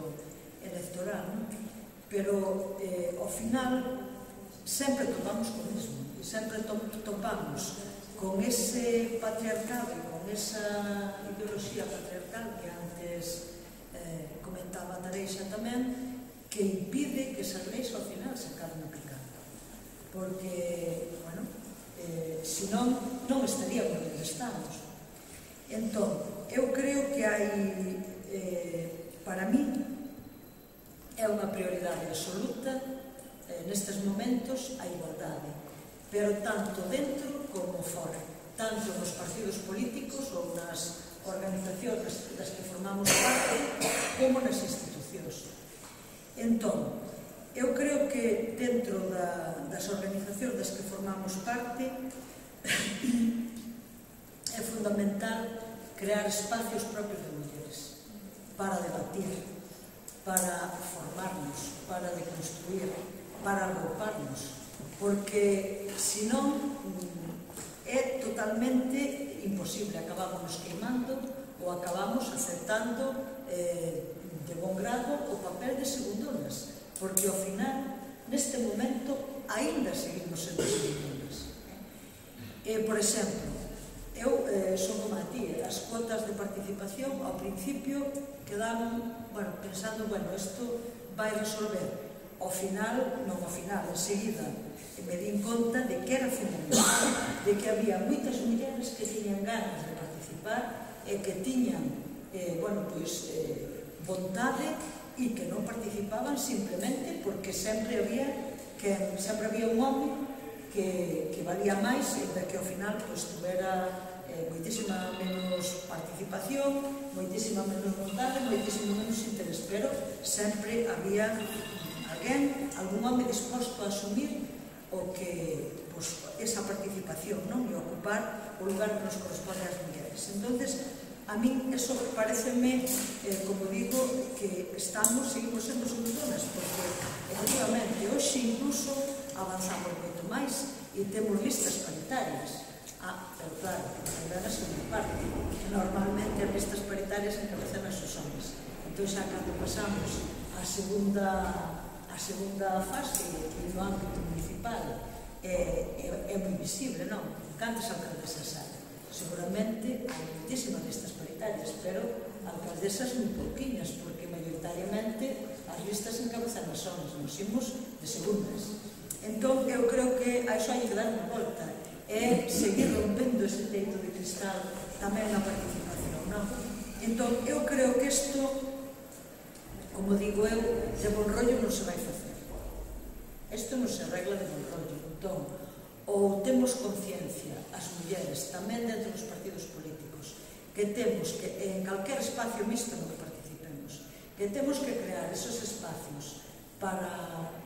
Speaker 4: electoral, non? Pero eh, ao final sempre topamos con mesmo, e sempre to, topamos con ese patriarcado e con esa ideoloxía patriarcal que antes eh, comentaba Tareixa tamén, que impide que esas leis ao final se acaben aplicando. Porque, bueno, eh, se senón non estaríamos onde estamos. Entón, eu creo que hai, eh, para mí, é unha prioridade absoluta eh, nestes momentos a igualdade, pero tanto dentro como fora, tanto nos partidos políticos ou nas organizacións das que formamos parte, como nas institucións. Entón, eu creo que dentro da, das organizacións das que formamos parte é fundamental crear espacios propios de mulleres para debatir, para formarnos, para deconstruir, para agruparnos, porque senón é totalmente imposible, acabamos queimando ou acabamos aceptando eh, de bon grado o papel de segundonas, porque ao final, neste momento, aínda seguimos sendo segundonas. Eh, por exemplo, eu eh, son como a ti, as cuotas de participación ao principio quedaban, bueno, pensando, bueno, isto vai resolver. Ao final, non ao final, enseguida, me di conta de que era fundamental, de que había moitas mulleres que tiñan ganas de participar e que tiñan, eh, bueno, pois, eh, vontade e que non participaban simplemente porque sempre había que sempre había un home que, que valía máis e que ao final pois, tuvera eh, moitísima menos participación, moitísima menos vontade, moitísimo menos interés, pero sempre había alguén, algún home disposto a asumir o que, pues, esa participación, non? E ocupar o lugar que nos corresponde ás mulleres. Entonces, a mí eso pareceme, eh, como digo, que estamos, seguimos sendo segundonas, porque, efectivamente, hoxe incluso avanzamos moito máis e temos listas paritarias. Ah, pero claro, ainda na segunda parte. Normalmente as listas paritarias encabezan as os homens. Entón, xa cando pasamos a segunda a segunda fase no ámbito municipal é, é, é moi visible, non? Cantas alcaldesas hai? Seguramente hai moitísimas listas paritarias, pero alcaldesas moi pouquiñas, porque maioritariamente as listas encabezan as homens, nos imos de segundas. Entón, eu creo que a iso hai que dar unha volta, é seguir rompendo ese teito de cristal tamén na participación, non? Entón, eu creo que isto, como digo eu, de bon rollo non se vai facer. Isto non se arregla de bon rollo. Entón, ou temos conciencia, as mulleres, tamén dentro dos partidos políticos, que temos que, en calquer espacio mixto no que participemos, que temos que crear esos espacios para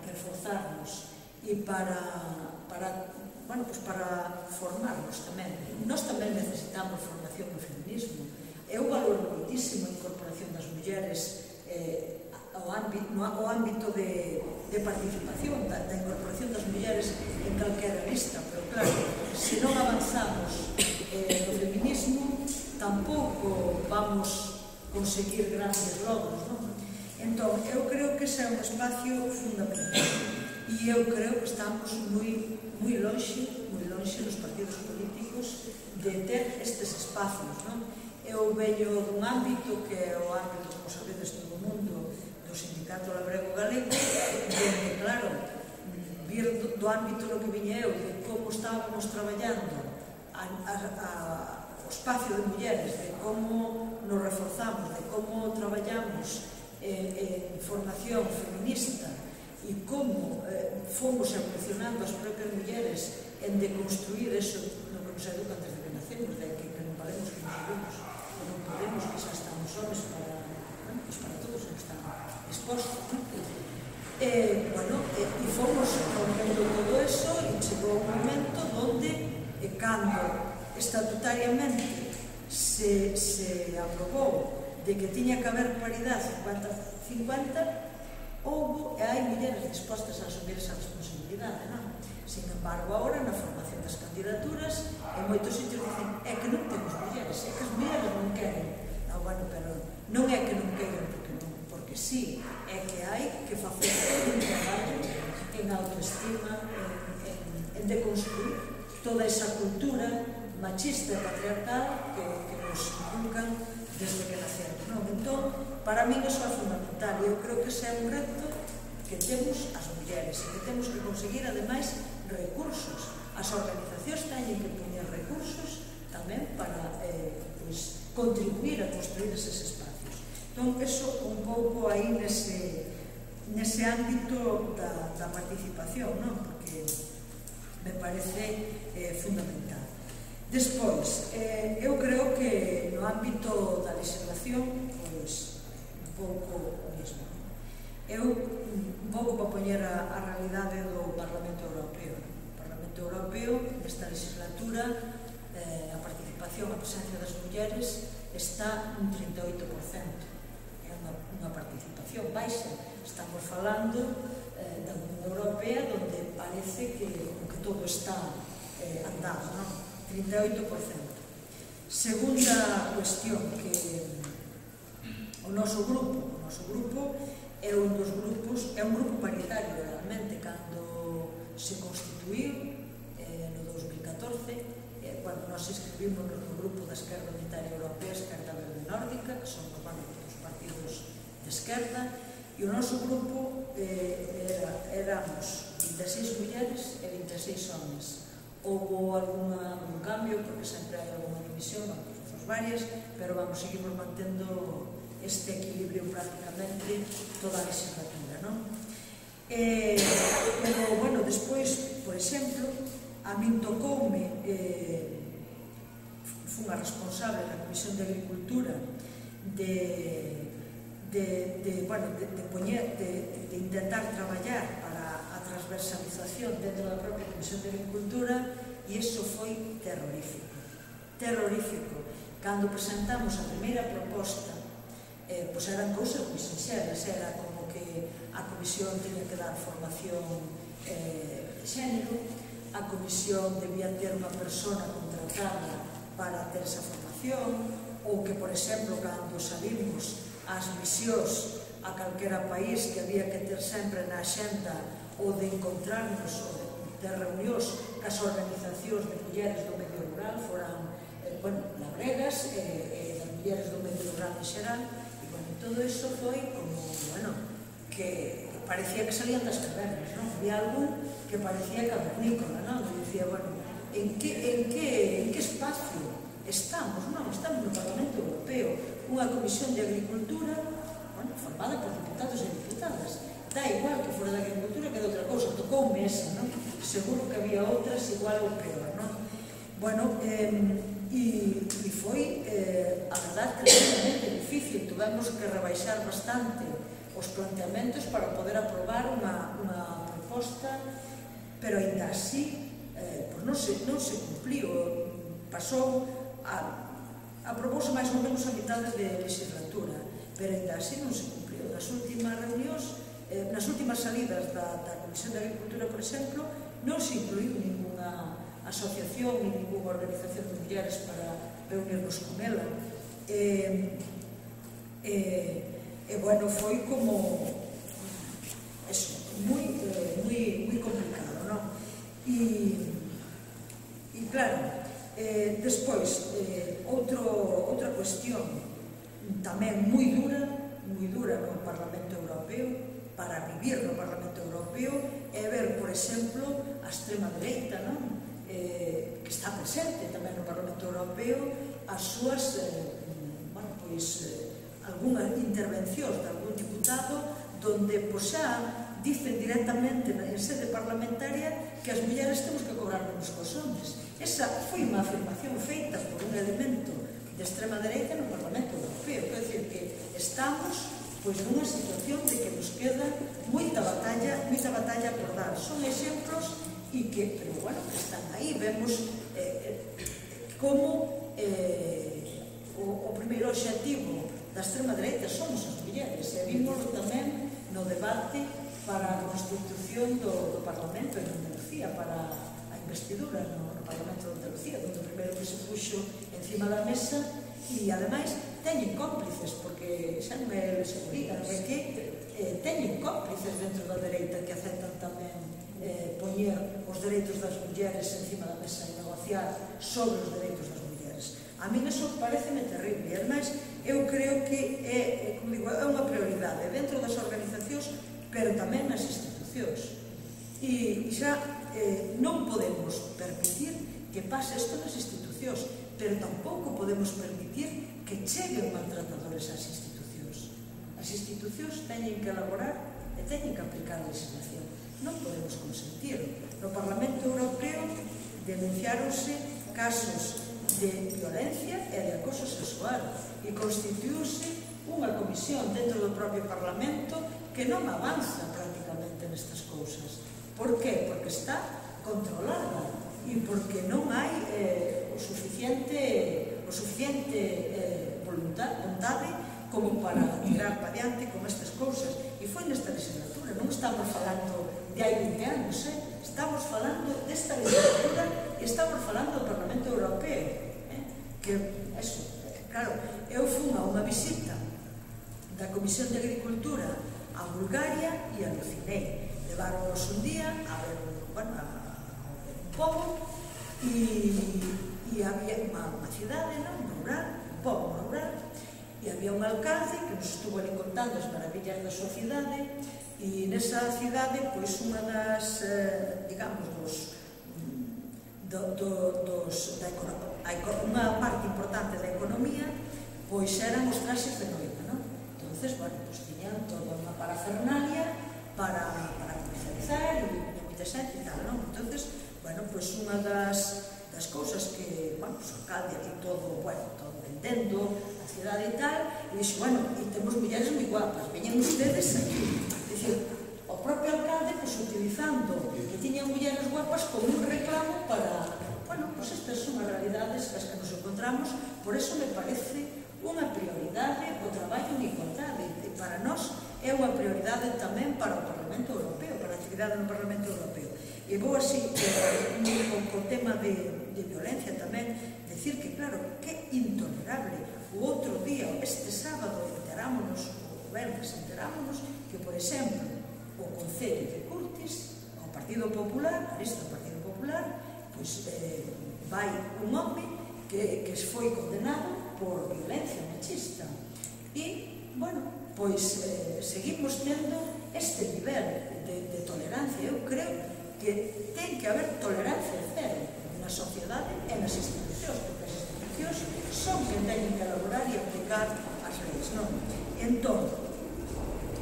Speaker 4: reforzarnos e para, para, bueno, pues para formarnos tamén. Nós tamén necesitamos formación no feminismo. Eu valoro moitísimo a incorporación das mulleres eh, ao ámbito, no, ao ámbito de, de participación, da, da incorporación das mulleres en calquera lista, pero claro, se non avanzamos eh, no feminismo, tampouco vamos conseguir grandes logros, non? Entón, eu creo que ese é un espacio fundamental e eu creo que estamos moi, moi lonxe, moi lonxe nos partidos políticos de ter estes espacios, non? Eu veño dun ámbito que é o ámbito, como sabedes, todo o mundo do Sindicato Labrego Galego, donde, claro, vir do, do ámbito no que viña eu, de como estábamos traballando a, a, a, o espacio de mulleres, de como nos reforzamos, de como traballamos en, en formación feminista e como eh, fomos evolucionando as propias mulleres en deconstruir eso no que nos educa antes de que nacemos, de que, que non valemos que nos sabemos, que non podemos, que xa estamos homes para, bueno, pues para todos que están expostos, ¿no? Eh, bueno, eh, e fomos rompendo todo eso e chegou un momento onde, eh, cando estatutariamente se, se aprobou de que tiña que haber paridade cincuenta cincuenta, houve e hai mulleres dispostas a asumir esa responsabilidade, non? Sin embargo, agora, na formación das candidaturas, en moitos sitios dicen é que non temos mulleres, é que as mulleres non queren. Non, bueno, pero non é que non queren porque non, porque sí, é que hai que facer un traballo en autoestima, en, en, en deconstruir toda esa cultura machista e patriarcal que, que nos inculcan desde que nacemos, non? Entón, para mí iso é fundamental e eu creo que ese é un reto que temos as mulleres e que temos que conseguir, ademais, recursos. As organizacións teñen que poñer recursos tamén para eh, pues, contribuir a construir eses espacios. Entón, eso un pouco aí nese, nese ámbito da, da participación, non? Porque me parece eh, fundamental. Despois, eh, eu creo que no ámbito da legislación, pois, un pouco o mesmo. Eu, un pouco para poñer a, a realidade do Parlamento Europeo. O Parlamento Europeo, nesta legislatura, eh, a participación, a presencia das mulleres está un trinta e oito por cento. É unha, unha participación baixa. Estamos falando eh, da Unión Europea, onde parece que, que todo está eh, andado, non? trinta e oito por cento. Segunda cuestión, que o noso grupo, o noso grupo é un dos grupos, é un grupo paritario realmente, cando se constituiu eh, no dos mil catorce, eh, cando nos inscribimos no grupo da Esquerda Unitaria Europea, Esquerda Verde Nórdica, que son bueno, os partidos de esquerda, e o noso grupo eh, era, éramos vinte e seis mulleres e vinte e seis homens. Houve algún cambio, porque sempre hai alguna división, non varias, pero vamos, seguimos mantendo este equilibrio prácticamente toda a legislatura, non? Eh, pero, bueno, despois, por exemplo, a min tocoume, eh, fun a responsable da Comisión de Agricultura de, de, de, bueno, de, de, poñer, de, de intentar traballar para a transversalización dentro da propia Comisión de Agricultura, e iso foi terrorífico, terrorífico. Cando presentamos a primeira proposta, eh, pois eran cousas moi sinxelas, era como que a comisión tiña que dar formación eh, de xénero, a comisión debía ter unha persona contratada para ter esa formación, ou que, por exemplo, cando salimos ás misións a calquera país, que había que ter sempre na xenda ou de encontrarnos ou de ter reunións cas organizacións de mulleres do medio rural, foran, eh, bueno, labregas e eh, das mulleres do medio rural en xeral, e, bueno, todo iso foi como, bueno, que parecía que salían das cavernas, non? Había algo que parecía cavernícola, non? E dicía, bueno, en que, en que, en que espacio estamos? Non, estamos no Parlamento Europeo, unha comisión de agricultura, bueno, formada por diputados e diputadas. Da igual que fora da agricultura que de outra cousa, tocoume esa, non? Seguro que había outras igual ou peor, non? Bueno, eh, e, e foi, eh, a verdade, tremendamente difícil. Tuvemos que rebaixar bastante os planteamentos para poder aprobar unha, unha proposta, pero ainda así, eh, pues non, se, non se cumpliu. Pasou, a, aprobouse máis ou menos a mitad de legislatura, pero ainda así non se cumpliu. Nas últimas reunións, Eh, nas últimas salidas da, da Comisión de Agricultura, por exemplo, non se incluiu ninguna asociación ni ninguna organización de mulleres para reunirnos con ela. E, eh, eh, bueno, foi como eso, moi, eh, moi, moi complicado, non? E, e claro, eh, despois, eh, outro, outra cuestión tamén moi dura, moi dura no Parlamento Europeo, para vivir no Parlamento Europeo, é ver, por exemplo, a extrema dereita, non? Eh, que está presente tamén no Parlamento Europeo, as súas, eh, bueno, pois, eh, algunhas intervencións de algún diputado, donde, pois, xa dicen directamente en sede parlamentaria que as mulleres temos que cobrar menos cos homens. Esa foi unha afirmación feita por un elemento de extrema dereita no Parlamento Europeo. Quer dizer que estamos pois nunha situación de que nos queda moita batalla, moita batalla por dar. Son exemplos e que, pero bueno, que están aí. Vemos eh, como eh, o, o primeiro obxectivo da extrema dereita somos as mulleres, e vimoslo tamén no debate para a constitución do, do Parlamento en Andalucía, para a investidura no, no Parlamento de Andalucía, onde o primeiro que se puxo encima da mesa. E, ademais, teñen cómplices, porque xa non é seguridad, é que eh, teñen cómplices dentro da dereita que aceptan tamén eh, poñer os dereitos das mulleres encima da mesa e negociar sobre os dereitos das mulleres. A mí iso pareceme terrible, e, ademais, eu creo que é, como digo, é unha prioridade dentro das organizacións, pero tamén nas institucións. E, e xa eh, non podemos permitir que pase isto nas institucións, pero tampouco podemos permitir que cheguen maltratadores ás institucións. As institucións teñen que elaborar e teñen que aplicar a legislación. Non podemos consentir. No Parlamento Europeo denunciáronse casos de violencia e de acoso sexual e constituíuse unha comisión dentro do propio Parlamento que non avanza prácticamente nestas cousas. Por qué? Porque está controlada e porque non hai eh, o suficiente, o suficiente eh, voluntad, vontade como para tirar para diante con estas cousas. E foi nesta legislatura, non estamos falando de hai vinte anos, eh? Estamos falando desta legislatura e estamos falando do Parlamento Europeo. Eh? Que, eso, claro, eu fui a unha visita da Comisión de Agricultura a Bulgaria e alucinei. Leváronos un día a ver, bueno, a, a ver un pobo e, e había unha, unha cidade, non? Rural, un pobo rural, e había un alcalde que nos estuvo ali contando as maravillas da súa cidade e nesa cidade, pois, unha das, eh, digamos, dos, do, do, dos da economía, unha parte importante da economía, pois eran os traxes de noiva, non? Entonces, bueno, pois tiñan toda unha parafernalia para, para comercializar e moita xente e tal, non? Entonces, bueno, pois unha das, das cousas que, bueno, pois o alcalde aquí todo, bueno, todo vendendo a cidade e tal, e dixo, bueno, e temos mulleres moi guapas, veñen ustedes aquí. Dicir, o propio alcalde, pois, utilizando que tiñan mulleres guapas como un reclamo para, bueno, pois estas son as realidades as que nos encontramos, por eso me parece unha prioridade o traballo en igualdade, e para nós é unha prioridade tamén para o Parlamento Europeo, para a actividade no Parlamento Europeo. E vou así, co tema de, de violencia tamén, decir que, claro, que intolerable. O outro día, este sábado, enterámonos, o venres enterámonos, que, por exemplo, o Concello de Curtis, o Partido Popular, a lista do Partido Popular, pois eh, vai un home que, que foi condenado por violencia machista. E, bueno, pois eh, seguimos tendo este nivel de, de tolerancia. Eu creo que ten que haber tolerancia cero na sociedade e nas institucións, porque as institucións son que teñen que elaborar e aplicar as leis, non? Entón,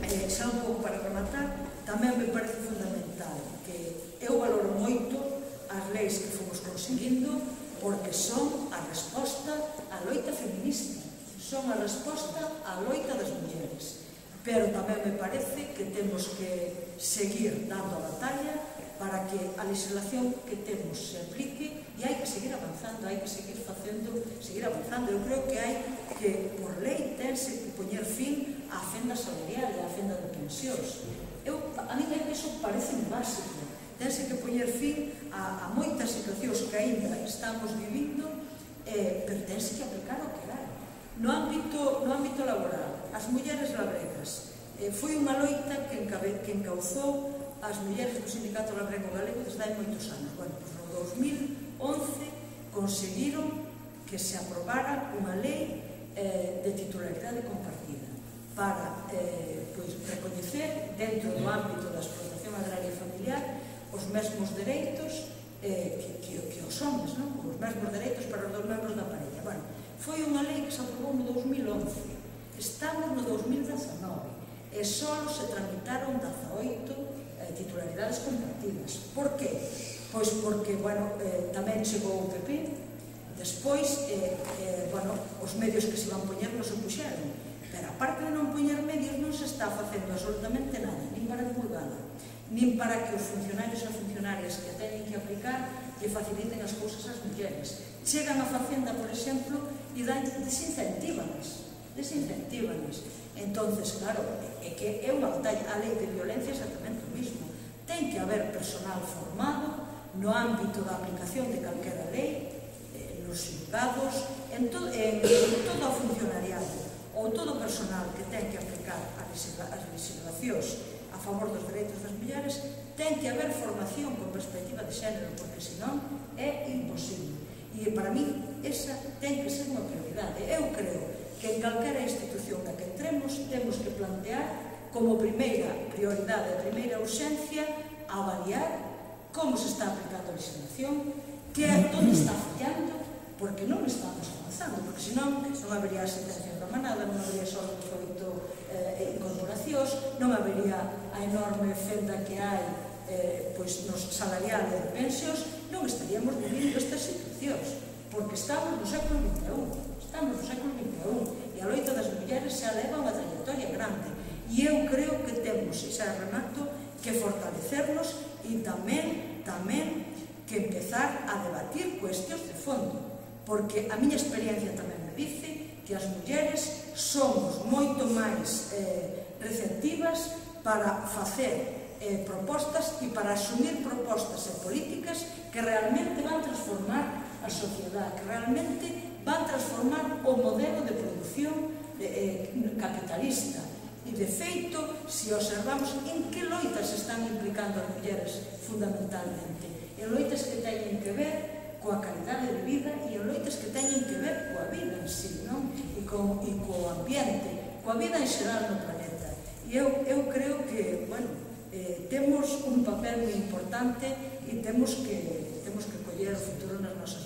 Speaker 4: eh, xa un pouco para rematar, tamén me parece fundamental que eu valoro moito as leis que fomos conseguindo, porque son a resposta á loita feminista, son a resposta á loita das mulleres. Pero tamén me parece que temos que seguir dando a batalla para que a legislación que temos se aplique e hai que seguir avanzando, hai que seguir facendo, seguir avanzando. Eu creo que hai que, por lei, tense que poñer fin á fenda salarial e á fenda de pensións. Eu, a mí iso parece básico. Tense que poñer fin a, a moitas situacións que aínda estamos vivindo, eh, pero tense que aplicar o que hai. No ámbito, no ámbito laboral, as mulleres labregas, eh, foi unha loita que, encabe, que encauzou as mulleres do Sindicato Labrego Galego desde hai moitos anos. Bueno, pois no dos mil once conseguiron que se aprobara unha lei eh, de titularidade compartida para eh, pois, recoñecer dentro do ámbito da explotación agraria e familiar os mesmos dereitos eh, que, que, que os homens, non? Os mesmos dereitos para os dos membros da parella. Bueno, foi unha lei que se aprobou no dos mil once, estamos no dos mil dezanove e só se tramitaron dezaoito eh, titularidades compartidas. Por que? Pois porque, bueno, eh, tamén chegou o P P, despois, eh, eh, bueno, os medios que se van poñer non se puxeron, pero aparte de non poñer medios non se está facendo absolutamente nada, nin para divulgala, nin para que os funcionarios e funcionarias que teñen que aplicar lle faciliten as cousas ás mulleres. Chegan a Facenda, por exemplo, e dan desincentívanas, desincentívanas. Entonces, claro, é que é unha batalla. A lei de violencia é exactamente o mismo. Ten que haber personal formado no ámbito da aplicación de calquera lei, eh, nos xulgados, en, to en, en todo o funcionariado ou todo o personal que ten que aplicar as legislacións a favor dos dereitos das mulleres, ten que haber formación con perspectiva de xénero, porque senón é imposible. E para mí esa ten que ser unha prioridade. Eu creo que en calquera institución na que entremos temos que plantear como primeira prioridade, a primeira urxencia, avaliar como se está aplicando a legislación, que é onde está fallando, porque non estamos avanzando, porque senón non habería sentencias da manada, non habería só oito eh, incorporacións, non habería a enorme fenda que hai eh, pois nos salarial e de pensións, non estaríamos vivindo estas situacións, porque estamos no século vinte e un, estamos no século vinte e un, e a loita das mulleres xa leva unha trayectoria grande, e eu creo que temos, e xa remato, que fortalecernos e tamén, tamén, que empezar a debatir cuestións de fondo, porque a miña experiencia tamén me dice que as mulleres somos moito máis eh, receptivas para facer eh, propostas e para asumir propostas e políticas que realmente van transformar a sociedade, que realmente van transformar o modelo de produción eh, capitalista. E, de feito, se observamos en que loitas están implicando as mulleres fundamentalmente, en loitas que teñen que ver coa calidade de vida e en loitas que teñen que ver coa vida en sí, non? E, co, e co ambiente, coa vida en xeral no planeta. E eu, eu creo que, bueno, eh, temos un papel moi importante e temos que, temos que coller o futuro nas nosas